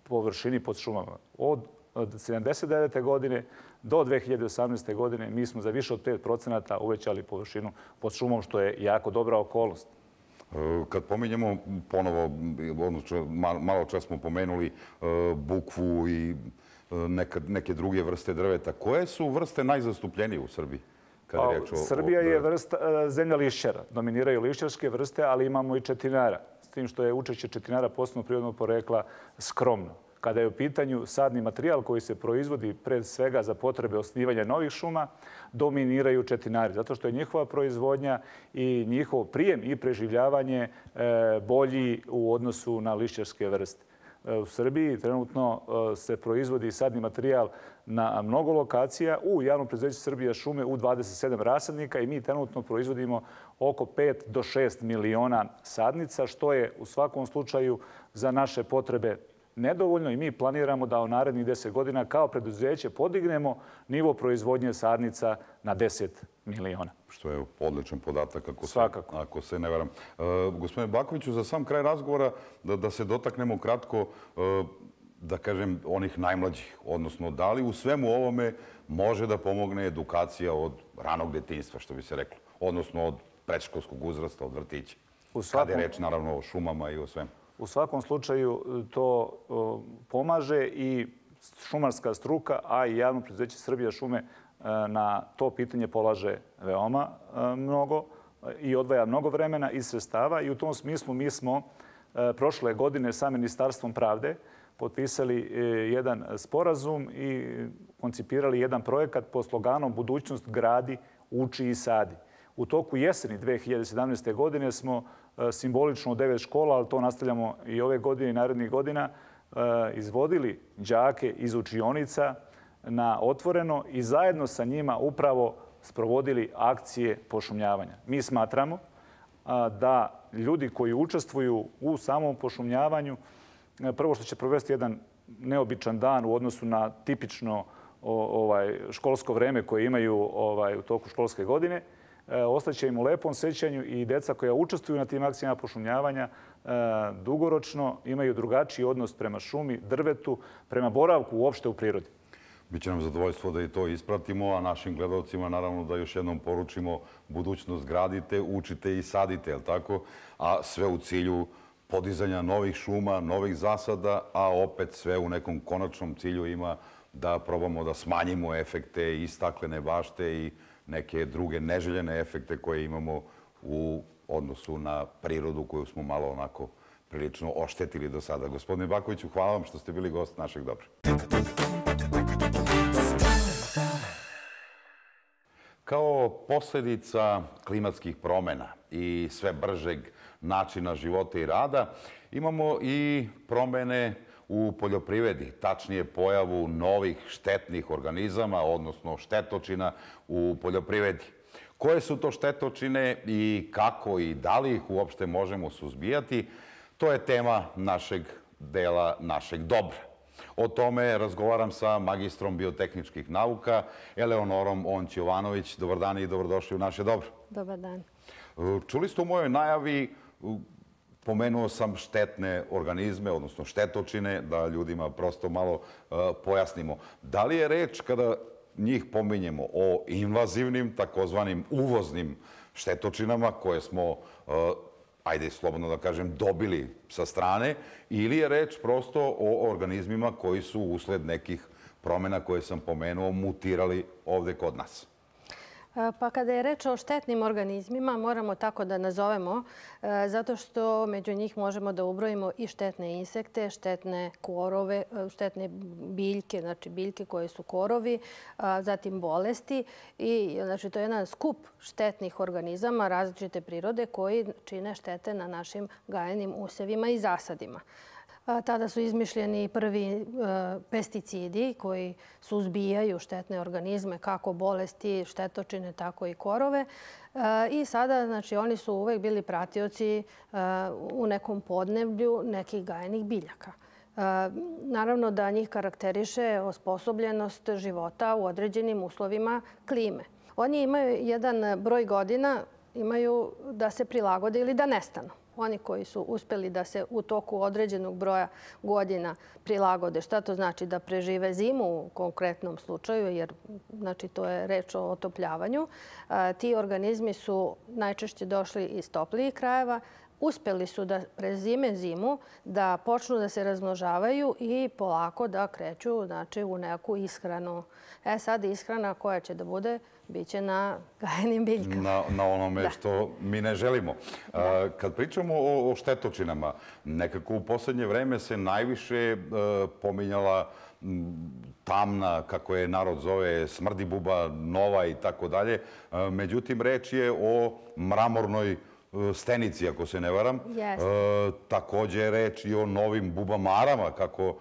površini pod šumama. Od, od sedamdeset devete godine do dve hiljade osamnaeste. godine mi smo za više od pet procenata uvećali površinu pod šumom, što je jako dobra okolnost. Kad pominjemo ponovo, malo čas smo pomenuli bukvu i neke druge vrste drveta. Koje su vrste najzastupljenije u Srbiji? Srbija je zemlja lišćara. Dominiraju lišćarske vrste, ali imamo i četinara. S tim što je učešće četinara posebno prirodnog porekla skromno. Kada je u pitanju sadni materijal koji se proizvodi pred svega za potrebe osnivanja novih šuma, dominiraju četinari. Zato što je njihova proizvodnja i njihov prijem i preživljavanje bolji u odnosu na lišćarske vrste. U Srbiji trenutno se proizvodi sadni materijal na mnogo lokacija. U javnom preduzeću Srbija šume u dvadeset sedam rasadnika i mi trenutno proizvodimo oko pet do šest miliona sadnica, što je u svakom slučaju za naše potrebe nedovoljno i mi planiramo da u narednih deset godina kao preduzeće podignemo nivo proizvodnje sadnica na deset miliona. Što je odličan podatak, ako se, Svakako. ako se ne varam. E, gospodine Bakoviću, za sam kraj razgovora da, da se dotaknemo kratko, e, da kažem, onih najmlađih. Odnosno, da li u svemu ovome može da pomogne edukacija od ranog detinjstva, što bi se reklo? Odnosno, od predškolskog uzrasta, od vrtića. U svakom... Kada je reč, naravno, o šumama i o svemu. U svakom slučaju to pomaže i šumarska struka, a i javno preduzeće Srbija šume na to pitanje polaže veoma mnogo i odvaja mnogo vremena i sredstava. I u tom smislu mi smo prošle godine sa Ministarstvom pravde potpisali jedan sporazum i koncipirali jedan projekat pod sloganom Budućnost gradi, uči i sadi. U toku jeseni dve hiljade sedamnaeste. godine smo simbolično u devet škola, ali to nastavljamo i ove godine i narednih godina, izvodili đake iz učionica na otvoreno i zajedno sa njima upravo sprovodili akcije pošumljavanja. Mi smatramo da ljudi koji učestvuju u samom pošumljavanju, prvo što će provesti jedan neobičan dan u odnosu na tipično školsko vreme koje imaju u toku školske godine, ostaće im u lepom sećanju i deca koja učestvuju na tim akcijama pošumljavanja dugoročno imaju drugačiji odnos prema šumi, drvetu, prema boravku uopšte u prirodi. Biće nam zadovoljstvo da i to ispratimo, a našim gledalcima naravno da još jednom poručimo budućnost gradite, učite i sadite, jel tako? A sve u cilju podizanja novih šuma, novih zasada, a opet sve u nekom konačnom cilju ima da probamo da smanjimo efekte i staklene bašte i neke druge neželjene efekte koje imamo u odnosu na prirodu koju smo malo onako prilično oštetili do sada. Gospodine Bakoviću, hvala vam što ste bili gost našeg Dobra. Kao posljedica klimatskih promjena i sve bržeg načina života i rada imamo i promjene u poljoprivredi, tačnije pojavu novih štetnih organizama, odnosno štetočina u poljoprivredi. Koje su to štetočine i kako i da li ih uopšte možemo suzbijati, to je tema našeg dela, našeg Dobra. O tome razgovaram sa magistrom biotehničkih nauka, Eleonorom Onć-Jovanović. Dobar dan i dobrodošli u naše Dobro. Dobar dan. Čuli ste u mojoj najavi, pomenuo sam štetne organizme, odnosno štetočine, da ljudima prosto malo pojasnimo. Da li je reč, kada njih pominjemo, o invazivnim, takozvanim uvoznim štetočinama koje smo, ajde slobodno da kažem, dobili sa strane, ili je reč prosto o organizmima koji su usled nekih promjena koje sam pomenuo mutirali ovde kod nas? Pa kada je reč o štetnim organizmima, moramo tako da nazovemo, zato što među njih možemo da ubrojimo i štetne insekte, štetne korove, štetne biljke, znači biljke koje su korovi, zatim bolesti. I znači to je jedan skup štetnih organizama različite prirode koji čine štete na našim gajenim usevima i zasadima. Tada su izmišljeni prvi pesticidi koji suzbijaju štetne organizme, kako bolesti, štetočine, tako i korove. I sada, znači, oni su uvek bili pratioci u nekom podneblju nekih gajenih biljaka. Naravno da njih karakteriše osposobljenost života u određenim uslovima klime. Oni imaju jedan broj godina, imaju da se prilagode ili da nestanu. Oni koji su uspeli da se u toku određenog broja godina prilagode. Šta to znači? Da prežive zimu u konkretnom slučaju, jer znači, to je reč o otopljavanju. Ti organizmi su najčešće došli iz toplijih krajeva, uspeli su da prezime zimu, da počnu da se razmnožavaju i polako da kreću znači, u neku ishranu. E sad ishrana koja će da bude, bit će na gajenim biljkama. Na, na onome što mi ne želimo. A, kad pričamo o, o štetočinama, nekako u poslednje vreme se najviše a, pominjala m, tamna, kako je narod zove, smrdibuba, nova i tako dalje. Međutim, reč je o mramornoj stenici, ako se ne varam. Jeste. E, također je reč i o novim bubamarama, kako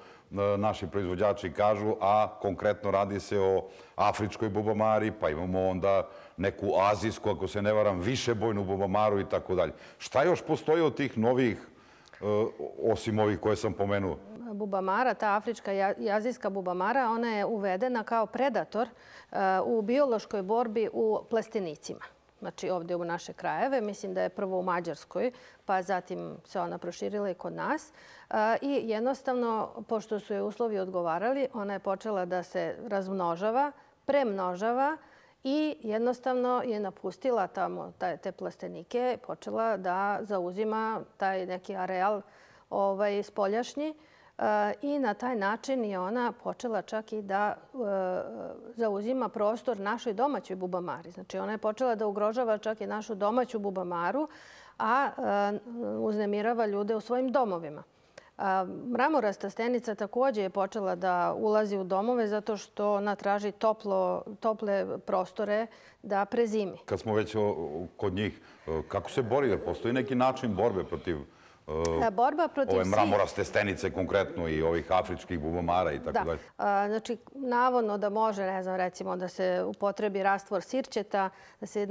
naši proizvođači kažu, a konkretno radi se o afričkoj bubamari, pa imamo onda neku azijsku, ako se ne varam, višebojnu bubamaru i tako dalje. Šta još postoji od tih novih, osim ovih koje sam pomenuo? Bubamara, ta afrička i azijska bubamara, ona je uvedena kao predator u biološkoj borbi u plastenicima. Znači ovdje u naše krajeve. Mislim da je prvo u Mađarskoj, pa zatim se ona proširila i kod nas. I jednostavno, pošto su je uslovi odgovarali, ona je počela da se razmnožava, premnožava i jednostavno je napustila tamo te plastenike, počela da zauzima taj neki areal ovaj, spoljašnji. I na taj način je ona počela čak i da zauzima prostor našoj domaćoj bubamari. Znači ona je počela da ugrožava čak i našu domaću bubamaru, a uznemirava ljude u svojim domovima. Mramorasta stenica također je počela da ulazi u domove zato što ona traži tople prostore da prezimi. Kad smo već kod njih, kako se bori? Jer postoji neki način borbe protiv ove mramoraste stenice konkretno i ovih afričkih bubamara i tako dalje? Da. Znači, navodno da može, ne znam, recimo da se upotrebi rastvor sirćeta, da se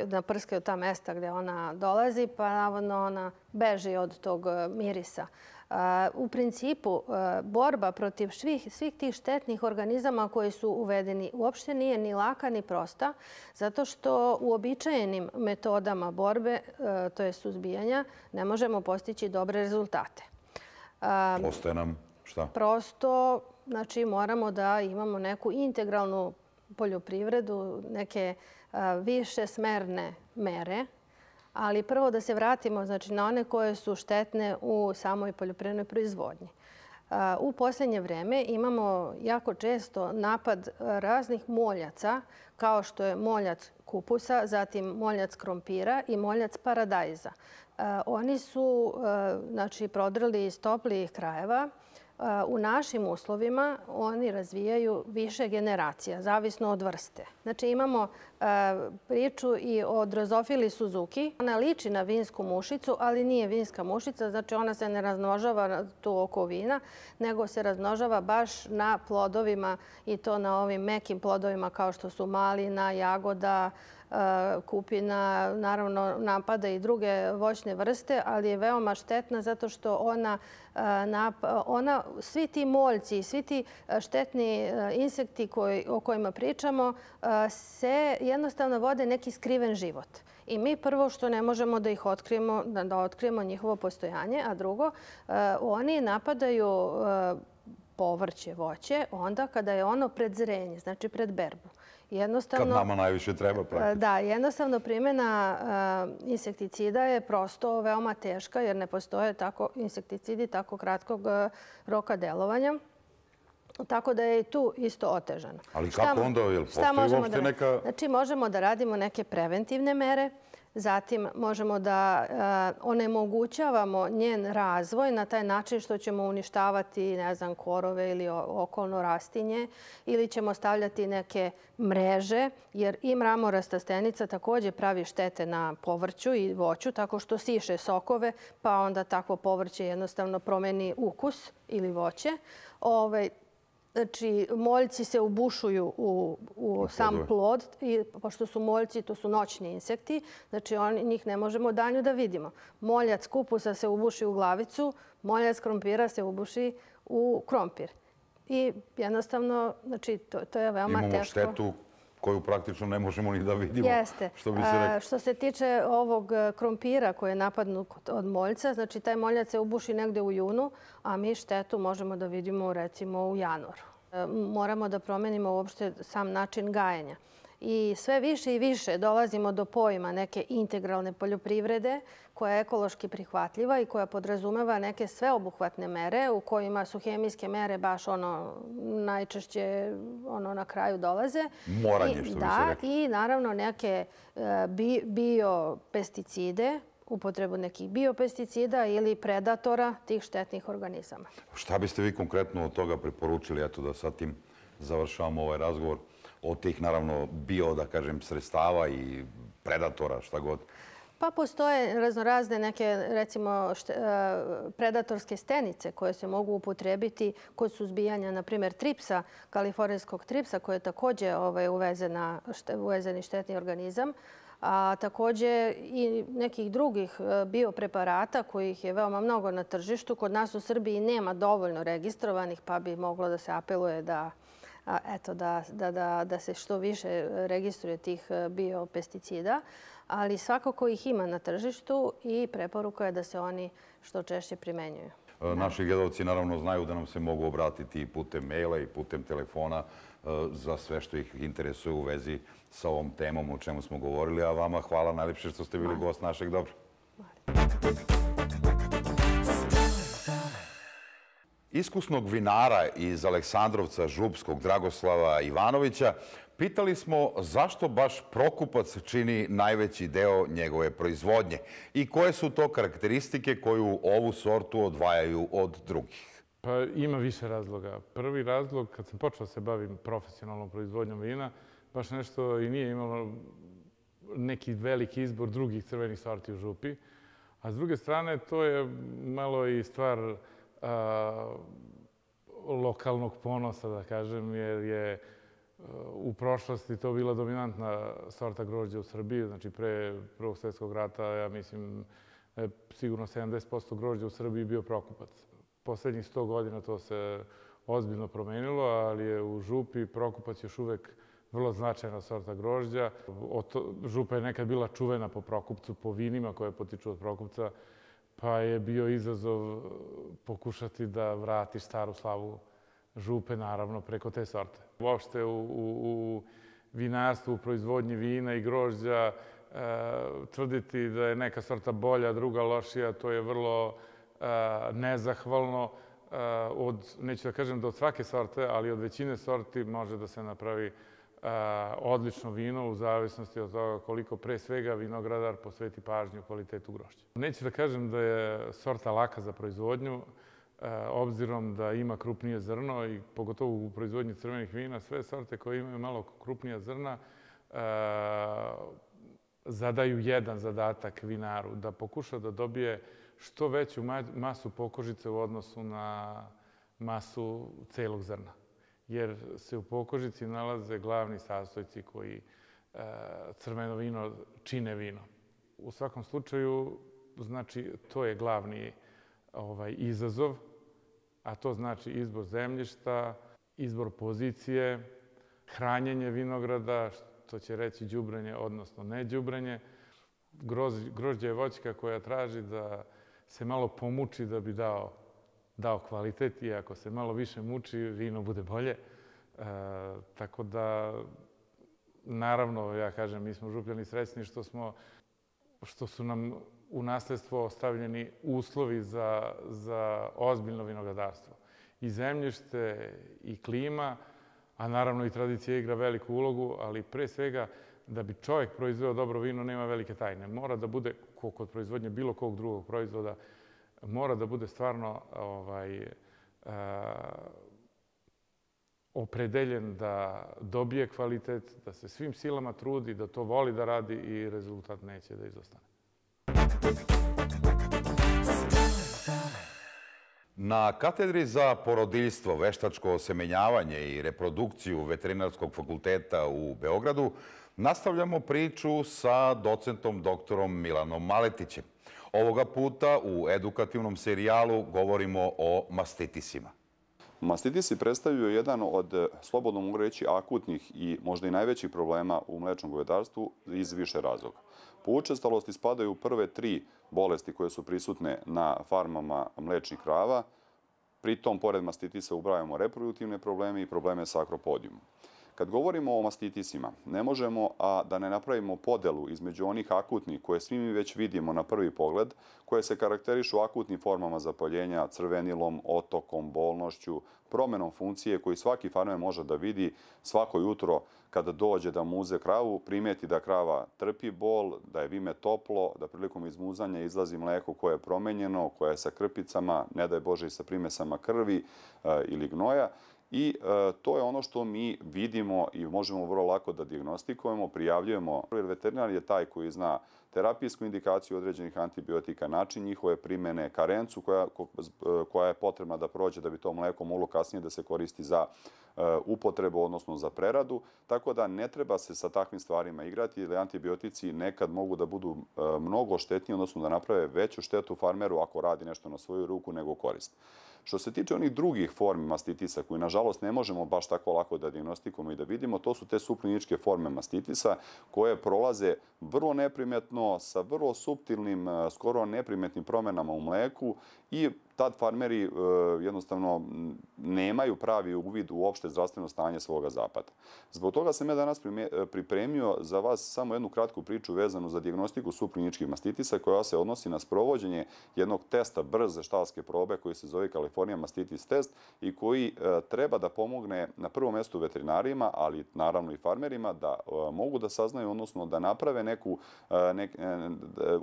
naprskaju ta mesta gdje ona dolazi, pa navodno ona beži od tog mirisa. U principu, borba protiv svih tih štetnih organizama koji su uvedeni uopšte nije ni laka ni prosta, zato što uobičajenim metodama borbe, to je suzbijanja, ne možemo postići dobre rezultate. Ostaje nam šta? Prosto, znači, moramo da imamo neku integralnu poljoprivredu, neke više smerne mere, ali prvo da se vratimo znači, na one koje su štetne u samoj poljoprivrednoj proizvodnji. U posljednje vreme imamo jako često napad raznih moljaca, kao što je moljac kupusa, zatim moljac krompira i moljac paradajza. Oni su znači, prodrli iz toplijih krajeva. U našim uslovima oni razvijaju više generacija, zavisno od vrste. Znači imamo priču i o drozofili Suzuki. Ona liči na vinsku mušicu, ali nije vinska mušica. Znači ona se ne razmnožava tu oko vina, nego se razmnožava baš na plodovima i to na ovim mekim plodovima kao što su malina, jagoda, kupina, naravno napada i druge voćne vrste, ali je veoma štetna zato što ona, ona svi ti moljci i svi ti štetni insekti koji, o kojima pričamo se jednostavno vode neki skriven život. I mi prvo što ne možemo da ih otkrijemo, da otkrijemo njihovo postojanje, a drugo, oni napadaju povrće, voće, onda kada je ono pred zrenje, znači pred berbu. Kad nama najviše treba praktično. Da, jednostavno primjena insekticida je prosto veoma teška jer ne postoje tako insekticidi tako kratkog roka delovanja. Tako da je i tu isto otežano. Ali kako onda? Postoji uopšte neka... Znači možemo da radimo neke preventivne mere. Zatim možemo da onemogućavamo njen razvoj na taj način što ćemo uništavati, ne znam, korove ili okolno rastinje ili ćemo stavljati neke mreže, jer i mramorasta stenica također pravi štete na povrću i voću tako što siše sokove, pa onda takvo povrće jednostavno promeni ukus ili voće. Ove, Znači, moljci se ubušuju u, u sam plod, i pošto su moljci, to su noćni insekti, znači on, njih ne možemo danju da vidimo. Moljac kupusa se ubuši u glavicu, moljac krompira se ubuši u krompir. I jednostavno, znači, to, to je veoma Imamo teško. Imamo štetu koju praktično ne možemo ni da vidimo. Jeste. Što bi se rekao. Što se tiče ovog krompira koji je napadnut od moljca, znači taj moljac se ubuši negde u junu, a mi štetu možemo da vidimo recimo u januaru. Moramo da promenimo uopšte sam način gajenja. I sve više i više dolazimo do pojma neke integralne poljoprivrede koja je ekološki prihvatljiva i koja podrazumeva neke sveobuhvatne mere u kojima su hemijske mere baš ono najčešće ono na kraju dolaze. Moranje, što bi se rekao. Da, i naravno neke biopesticide, upotrebu nekih biopesticida ili predatora tih štetnih organizama. Šta biste vi konkretno od toga preporučili, eto da sad tim završavamo ovaj razgovor, od tih naravno bio, da kažem, sredstava i predatora, šta god? Pa postoje raznorazne neke, recimo, predatorske stenice koje se mogu upotrebiti kod suzbijanja, na primjer, tripsa, kalifornijskog tripsa, koji je također uvezeni štetni organizam, a također i nekih drugih biopreparata kojih je veoma mnogo na tržištu. Kod nas u Srbiji nema dovoljno registrovanih, pa bi moglo da se apeluje da, eto, da, da, da, da se što više registruje tih biopesticida. Ali svakako ih ima na tržištu i preporuka je da se oni što češće primenjuju. Naši gledalci naravno znaju da nam se mogu obratiti i putem maila i putem telefona za sve što ih interesuje u vezi sa ovom temom o čemu smo govorili. A vama hvala najljepše što ste bili gost našeg Dobra. Iskusnog vinara iz Aleksandrovca Župskog Dragoslava Ivanovića pitali smo zašto baš Prokupac čini najveći deo njegove proizvodnje i koje su to karakteristike koju ovu sortu odvajaju od drugih. Pa ima više razloga. Prvi razlog, kad sam počeo se bavim profesionalnom proizvodnjom vina, baš nešto i nije imalo neki veliki izbor drugih crvenih sorti u Župi. A s druge strane, to je malo i stvar a, lokalnog ponosa, da kažem, jer je u prošlosti to bila dominantna sorta grožđa u Srbiji. Znači, pre Prvog svjetskog rata, ja mislim, sigurno sedamdeset posto grožđa u Srbiji bio Prokupac. Poslednjih sto godina to se ozbiljno promenilo, ali je u Župi Prokupac još uvek vrlo značajna sorta grožđa. Župa je nekad bila čuvena po Prokupcu, po vinima koje potiču od Prokupca, pa je bio izazov pokušati da vrati staru slavu Župe, naravno, preko te sorte. Uopšte u, u, u vinarstvu, u proizvodnji vina i grožđa, e, tvrditi da je neka sorta bolja, druga lošija, to je vrlo e, nezahvalno. E, od, neću da kažem da od svake sorte, ali od većine sorti može da se napravi e, odlično vino u zavisnosti od toga koliko pre svega vinogradar posveti pažnju kvalitetu grožđa. Neću da kažem da je sorta laka za proizvodnju, obzirom da ima krupnije zrno i pogotovo u proizvodnji crvenih vina, sve sorte koje imaju malo krupnija zrna zadaju jedan zadatak vinaru, da pokuša da dobije što veću masu pokožice u odnosu na masu celog zrna. Jer se u pokožici nalaze glavni sastojci koji crveno vino čine vino. U svakom slučaju, znači, to je glavni ovaj izazov, a to znači izbor zemljišta, izbor pozicije, hranjenje vinograda, što će reći đubrenje, odnosno ne đubrenje. Grožđe je voćka koja traži da se malo pomuči da bi dao, dao kvalitet i ako se malo više muči, vino bude bolje. E, tako da, naravno, ja kažem, mi smo Župljani srećni što smo, što su nam u nasledstvo ostavljeni uslovi za, za ozbiljno vinogradarstvo. I zemljište, i klima, a naravno i tradicija igra veliku ulogu, ali pre svega da bi čovjek proizveo dobro vino nema velike tajne. Mora da bude, kod proizvodnje bilo kog drugog proizvoda, mora da bude stvarno ovaj, a, opredeljen da dobije kvalitet, da se svim silama trudi, da to voli da radi i rezultat neće da izostane. Na katedri za porodiljstvo, veštačko osemenjavanje i reprodukciju Veterinarskog fakulteta u Beogradu nastavljamo priču sa docentom doktorom Milanom Maletićem. Ovoga puta u edukativnom serijalu govorimo o mastitisima. Mastitisi predstavljaju jedan od, slobodno mogu reći, akutnih i možda i najvećih problema u mlečnom govedarstvu iz više razloga. Po učestalosti spadaju u prve tri bolesti koje su prisutne na farmama mlečnih krava. Pritom, pored mastitisa, ubrajamo reproduktivne probleme i probleme sa akropodijumom. Kad govorimo o mastitisima, ne možemo a da ne napravimo podelu između onih akutnih koje svi mi već vidimo na prvi pogled, koje se karakterišu akutnim formama zapaljenja, crvenilom, otokom, bolnošću, promenom funkcije koji svaki farmer može da vidi svako jutro kada dođe da muze kravu, primijeti da krava trpi bol, da je vime toplo, da prilikom izmuzanja izlazi mleko koje je promenjeno, koje je sa krpicama, ne daj Bože i sa primesama krvi e, ili gnoja. I e, to je ono što mi vidimo i možemo vrlo lako da dijagnostikujemo, prijavljujemo. Jer veterinar je taj koji zna terapijsku indikaciju određenih antibiotika, način njihove primene, karencu koja, koja je potrebna da prođe da bi to mleko moglo kasnije da se koristi za e, upotrebu, odnosno za preradu. Tako da ne treba se sa takvim stvarima igrati, jer antibiotici nekad mogu da budu e, mnogo štetniji, odnosno da naprave veću štetu farmeru ako radi nešto na svoju ruku nego korist. Što se tiče onih drugih formi mastitisa, koji nažalost ne možemo baš tako lako da dijagnostikujemo i da vidimo, to su te subkliničke forme mastitisa koje prolaze vrlo neprimetno, sa vrlo suptilnim, skoro neprimetnim promenama u mleku i tad farmeri jednostavno nemaju pravi uvid u opšte zdravstveno stanje svoga zapata. Zbog toga sam ja danas pripremio za vas samo jednu kratku priču vezanu za dijagnostiku subkliničkih mastitisa koja se odnosi na sprovođenje jednog testa brze štalske probe koji se zove California Mastitis test i koji treba da pomogne na prvom mjestu veterinarima, ali naravno i farmerima da mogu da saznaju, odnosno da naprave neku nek,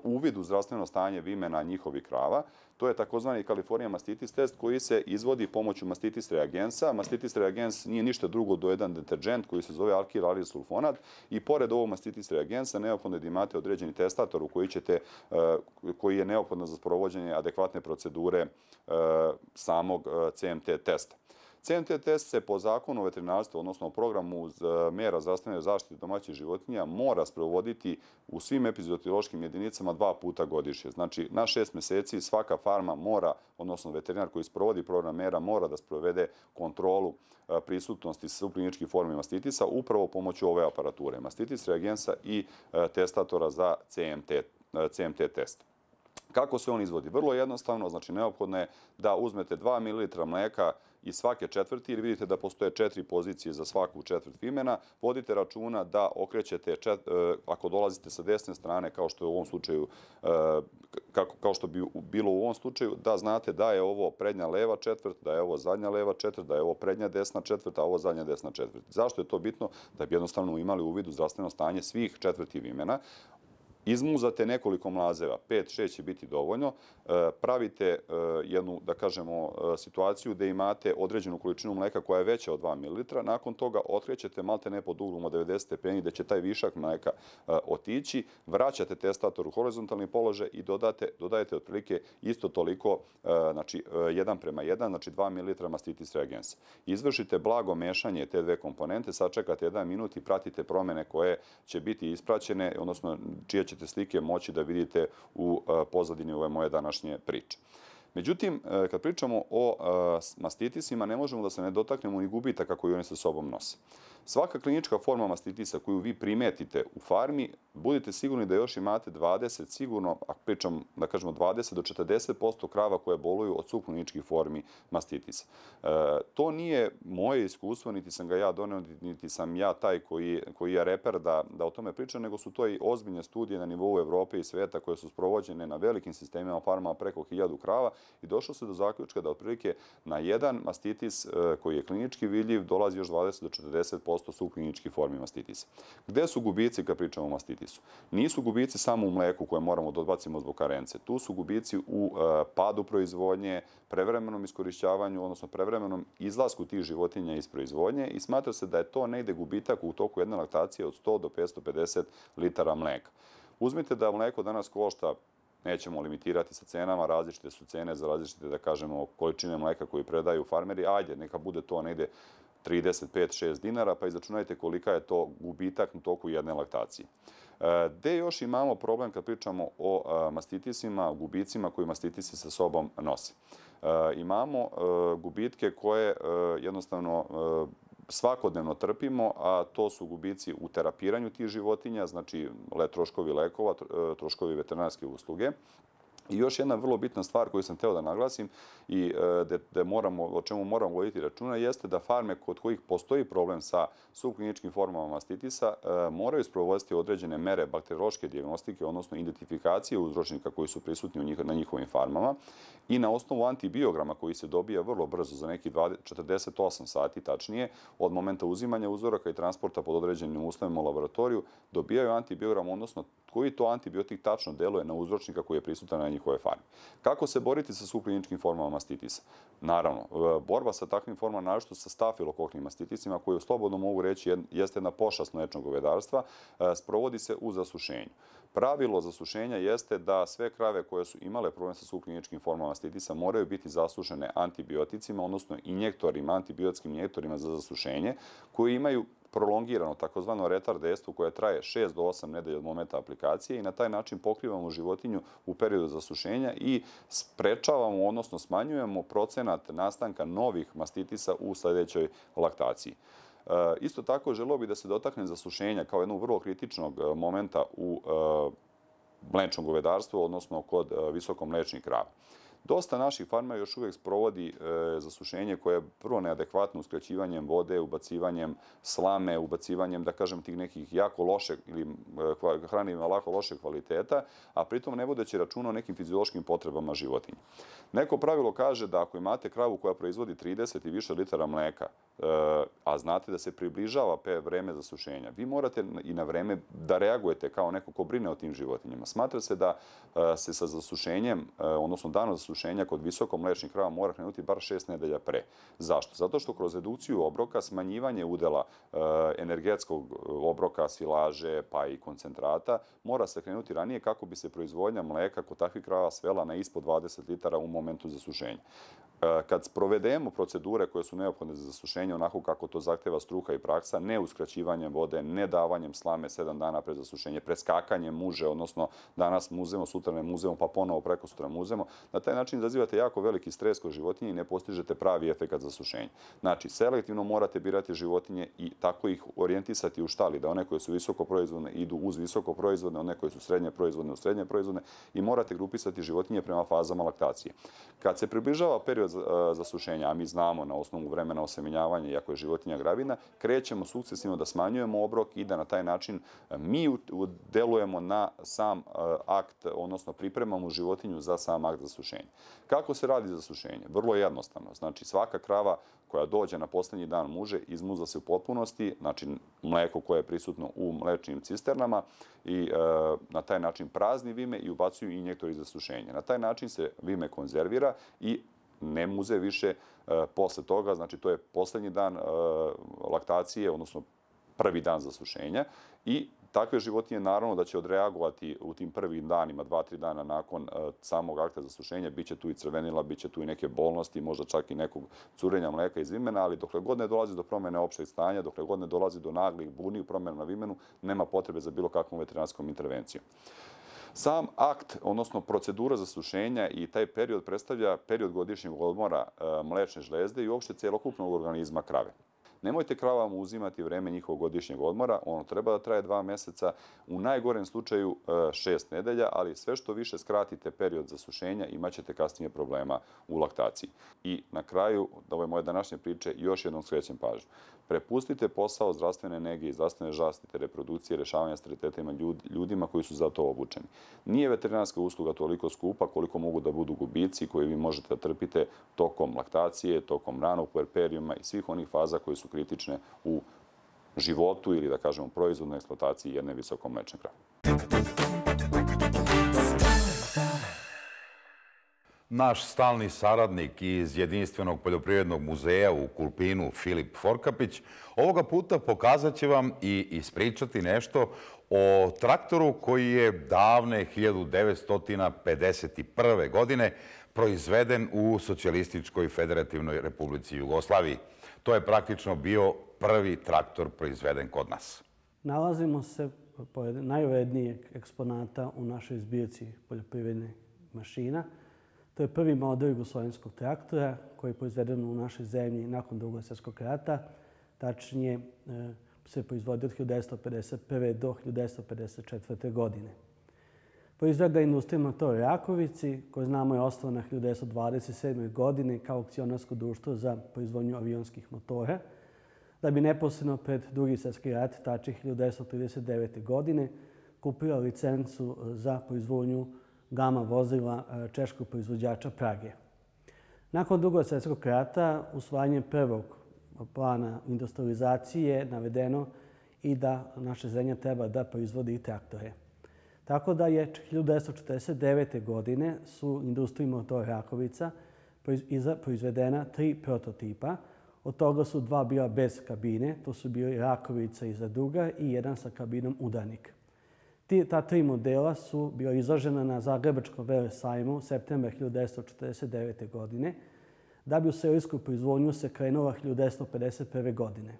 uvid u zdravstveno stanje vimena njihovih krava. To je takozvani California Mastitis test koji se izvodi pomoću mastitis reagensa. Mastitis reagens nije ništa drugo do jedan deterđent koji se zove alkil alil sulfonat i pored ovog mastitis reagensa neophodno je da imate određeni testator u koji, ćete, koji je neophodno za sprovođenje adekvatne procedure samog C M T testa. C M T test se po zakonu o veterinarstvu, odnosno o programu mera zdravstvene zaštite domaćih životinja, mora sprovoditi u svim epizootiološkim jedinicama dva puta godišnje. Znači, na šest meseci svaka farma mora, odnosno veterinar koji sprovodi program mera, mora da sprovede kontrolu prisutnosti subkliničkih formi mastitisa upravo pomoću ove aparature, mastitis reagensa i testatora za C M T, C M T test. Kako se on izvodi? Vrlo jednostavno, znači neophodno je da uzmete dva mililitra mleka iz svake četvrti, jer vidite da postoje četiri pozicije za svaku četvrt vimena. Vodite računa da okrećete, čet, ako dolazite sa desne strane, kao što je u ovom slučaju, kako, kao što bi bilo u ovom slučaju, da znate da je ovo prednja leva četvrt, da je ovo zadnja leva četvrt, da je ovo prednja desna četvrt, a ovo zadnja desna četvrt. Zašto je to bitno? Da bi jednostavno imali uvid u zdravstveno stanje svih četvrti vimena. Izmuzate nekoliko mlazeva, pet, šest će biti dovoljno, pravite jednu, da kažemo, situaciju gde imate određenu količinu mleka koja je veća od dva mililitra, nakon toga otkrećete malte ne pod uglom od devedeset stepeni gde će taj višak mleka otići, vraćate testator u horizontalni položaj i dodate, dodajete otprilike isto toliko, znači jedan prema jedan, znači dva mililitra mastitis reagensa. Izvršite blago mešanje te dve komponente, sačekate jedan minut i pratite promene koje će biti ispraćene, odnosno čije ćete slike moći da vidite u pozadini ove moje današnje priče. Međutim, kad pričamo o mastitisima, ne možemo da se ne dotaknemo ni gubitaka koji oni sa sobom nose. Svaka klinička forma mastitisa koju vi primetite u farmi, budite sigurni da još imate dvadeset, sigurno, ako pričam da kažemo dvadeset do četrdeset posto krava koje boluju od subkliničkih formi mastitisa. E, to nije moje iskustvo, niti sam ga ja doneo, niti sam ja taj koji, koji je reper da, da o tome pričam, nego su to i ozbiljne studije na nivou Evrope i sveta koje su sprovođene na velikim sistemima farmama preko hiljadu krava i došlo se do zaključka da otprilike na jedan mastitis koji je klinički vidljiv dolazi još dvadeset do četrdeset posto subkliničkih formi mastitisa. Gde su gubici kad pričamo o mastitisu? Nisu gubici samo u mleku koje moramo da odbacimo zbog karence. Tu su gubici u padu proizvodnje, prevremenom iskorišćavanju, odnosno prevremenom izlasku tih životinja iz proizvodnje i smatra se da je to negde gubitak u toku jedne laktacije od sto do petsto pedeset litara mleka. Uzmite da mleko danas košta, nećemo limitirati sa cenama, različite su cene za različite, da kažemo, količine mleka koji predaju farmeri. Ajde, neka bude to negde trideset pet do šest dinara, pa izračunajte kolika je to gubitak u toku jedne laktacije. Gde još imamo problem kad pričamo o mastitisima, gubicima koji mastitisi sa sobom nose? Imamo gubitke koje jednostavno svakodnevno trpimo, a to su gubici u terapiranju tih životinja, znači troškovi lekova, troškovi veterinarske usluge. I još jedna vrlo bitna stvar koju sam hteo da naglasim i de, de moramo, o čemu moramo voditi računa jeste da farme kod kojih postoji problem sa subkliničkim formama mastitisa moraju sprovoditi određene mere bakteriološke dijagnostike, odnosno identifikacije uzročnika koji su prisutni u njih, na njihovim farmama i na osnovu antibiograma koji se dobija vrlo brzo za neki četrdeset osam sati tačnije od momenta uzimanja uzoraka i transporta pod određenim uslovima u laboratoriju dobijaju antibiogram, odnosno koji to antibiotik tačno deluje na uzročnika koji je prisutan na njihove farme. Kako se boriti sa subkliničkim formama mastitisa? Naravno, borba sa takvim formama, naročito sa stafilokoknim mastitisima, koji slobodno mogu reći jeste jedna pošast mlečnog govedarstva, sprovodi se u zasušenju. Pravilo zasušenja jeste da sve krave koje su imale problem sa subkliničkim formama mastitisa moraju biti zasušene antibioticima, odnosno injektorima, antibiotskim injektorima za zasušenje, koji imaju prolongirano, takozvano retard dejstvo koje traje šest do osam nedelja od momenta aplikacije i na taj način pokrivamo životinju u periodu zasušenja i sprečavamo, odnosno smanjujemo procenat nastanka novih mastitisa u sledećoj laktaciji. Isto tako, želeo bih da se dotaknem zasušenja kao jednog vrlo kritičnog momenta u mlečnom govedarstvu, odnosno kod visokomlečnih krava. Dosta naših farmera još uvijek sprovodi zasušenje koje je prvo neadekvatno uskraćivanjem vode, ubacivanjem slame, ubacivanjem, da kažem, tih nekih jako loše ili hranivima lako loše kvaliteta, a pritom ne vodeći računa o nekim fiziološkim potrebama životinja. Neko pravilo kaže da ako imate kravu koja proizvodi trideset i više litara mleka, a znate da se približava vreme zasušenja, vi morate i na vreme da reagujete kao neko ko brine o tim životinjama. Smatra se da se sa zasušenjem, odnosno danom zasušenja kod visokomlečnih krava mora krenuti bar šest nedelja pre. Zašto? Zato što kroz redukciju obroka, smanjivanje udela energetskog obroka, silaže pa i koncentrata, mora se krenuti ranije kako bi se proizvodnja mleka kod takvih krava svela na ispod dvadeset litara u momentu zasušenja. Kad sprovedemo procedure koje su neophodne za zasušenje onako kako to zahteva struka i praksa, ne uskraćivanjem vode, ne davanjem slame sedam dana pred zasušenje, preskakanjem muže, odnosno danas muzemo, sutra ne muzemo, pa ponovo preko sutra muzemo, na taj način izazivate jako veliki stres kod životinje i ne postižete pravi efekat zasušenja. Znači, selektivno morate birati životinje i tako ih orijentisati u štali, da one koje su visoko proizvodne idu uz visoko proizvodne, one koje su srednje proizvodne u srednje proizvodne i morate grupisati životinje prema fazama laktacije. Kad se približava period zasušenja, a mi znamo na osnovu vremena osemenjavanja, iako je životinja gravina, krećemo sukcesivno da smanjujemo obrok i da na taj način mi delujemo na sam akt, odnosno pripremamo životinju za sam akt zasušenja. Kako se radi zasušenje? Vrlo jednostavno. Znači, svaka krava koja dođe na posljednji dan muže, izmuza se u potpunosti, znači mleko koje je prisutno u mlečnim cisternama i na taj način prazni vime i ubacuju injektori za sušenje. Na taj način se vime konzervira i ne muze više posle toga, znači to je posljednji dan laktacije, odnosno prvi dan zasušenja i takve životinje naravno da će odreagovati u tim prvim danima, dva, tri dana nakon samog akta zasušenja, bit će tu i crvenila, bit će tu i neke bolnosti, možda čak i nekog curenja mleka iz vimena, ali dokle god ne dolazi do promjene opšteg stanja, dokle god ne dolazi do naglih buni, promjena na vimenu, nema potrebe za bilo kakvom veterinarskom intervencijom. Sam akt, odnosno procedura zasušenja i taj period predstavlja period godišnjeg odmora mlečne žlezde i uopšte celokupnog organizma krave. Nemojte kravama uzimati vreme njihovog godišnjeg odmora, ono treba da traje dva meseca, u najgorem slučaju šest nedelja, ali sve što više skratite period zasušenja imat ćete kasnije problema u laktaciji. I na kraju, da ove moje današnje priče, još jednom skrećem pažnju. Prepustite posao zdravstvene nege i zdravstvene zaštite, reprodukcije, rešavanja steriliteta ljudima koji su za to obučeni. Nije veterinarska usluga toliko skupa koliko mogu da budu gubici koje vi možete da trpite tokom laktacije, tokom ranog puerperijuma i svih onih faza koje su kritične u životu ili, da kažemo, proizvodnoj eksploataciji jedne visokomlečne krave. Naš stalni saradnik iz Jedinstvenog poljoprivrednog muzeja u Kulpinu, Filip Forkapić, ovoga puta pokazat će vam i ispričati nešto o traktoru koji je davne hiljadu devetsto pedeset prve. godine proizveden u Socijalističkoj Federativnoj Republici Jugoslaviji. To je praktično bio prvi traktor proizveden kod nas. Nalazimo se pored najvrednijeg eksponata u našoj zbirci poljoprivrednih mašina. To je prvi model jugoslovenskog traktora koji je proizveden u našoj zemlji nakon Drugog svjetskog rata. Tačnije se proizvodio od hiljadu devetsto pedeset prve. do hiljadu devetsto pedeset četvrte. godine. Proizveo ga industrija motora Rakovici, koja znamo je osnovana hiljadu devetsto dvadeset sedme. godine kao akcionarsko društvo za proizvodnju avionskih motora, da bi neposredno pred Drugi svjetski rat, tačnije hiljadu devetsto trideset devete. godine, kupila licencu za proizvodnju gama vozila češkog proizvođača Prage. Nakon Drugog svjetskog rata, usvajanjem prvog plana industrializacije je navedeno i da naša zemlja treba da proizvodi i traktore. Tako da je hiljadu devetsto četrdeset devete. godine su industriji motora Rakovica proizvedena tri prototipa. Od toga su dva bila bez kabine, to su bili Rakovica i Zadruga i jedan sa kabinom Udarnik. Ta tri modela su bila izložena na Zagrebačkom velesajmu u septembra hiljadu devetsto četrdeset devete. godine, da bi u serijsku proizvodnju se krenula hiljadu devetsto pedeset prve. godine.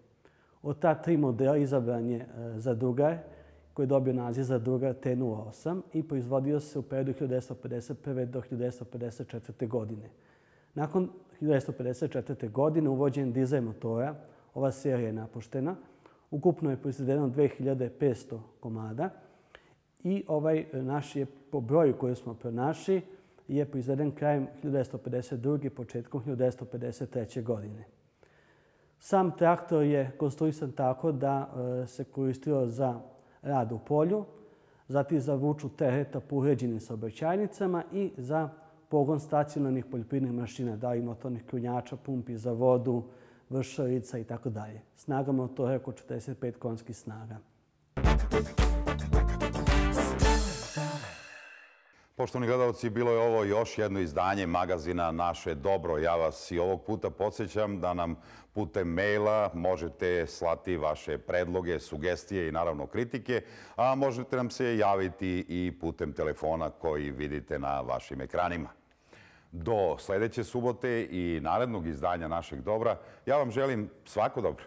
Od ta tri modela izabran je Zadrugar, koji je dobio naziv Zadrugar T nula osam i proizvodio se u periodu hiljadu devetsto pedeset prve. do hiljadu devetsto pedeset četvrte. godine. Nakon hiljadu devetsto pedeset četvrte. godine uvođenjem dizel motora, ova serija je napuštena. Ukupno je proizvedeno dve hiljade petsto komada i ovaj naš je po broju koji smo pronašli je proizveden krajem hiljadu devetsto pedeset druge. početkom hiljadu devetsto pedeset treće. godine. Sam traktor je konstruisan tako da se koristio za rad u polju, zatim za vuču tereta po uređenim saobraćajnicama i za pogon stacionarnih poljoprivrednih mašina, da li motornih krunjača, pumpi za vodu, vršarica i tako dalje. Snaga motora je oko četrdeset pet konjskih snaga. Poštovani gledalci, bilo je ovo još jedno izdanje magazina Naše dobro. Ja vas i ovog puta podsjećam da nam putem maila možete slati vaše predloge, sugestije i naravno kritike, a možete nam se javiti i putem telefona koji vidite na vašim ekranima. Do sljedeće subote i narednog izdanja Našeg dobra, ja vam želim svako dobro.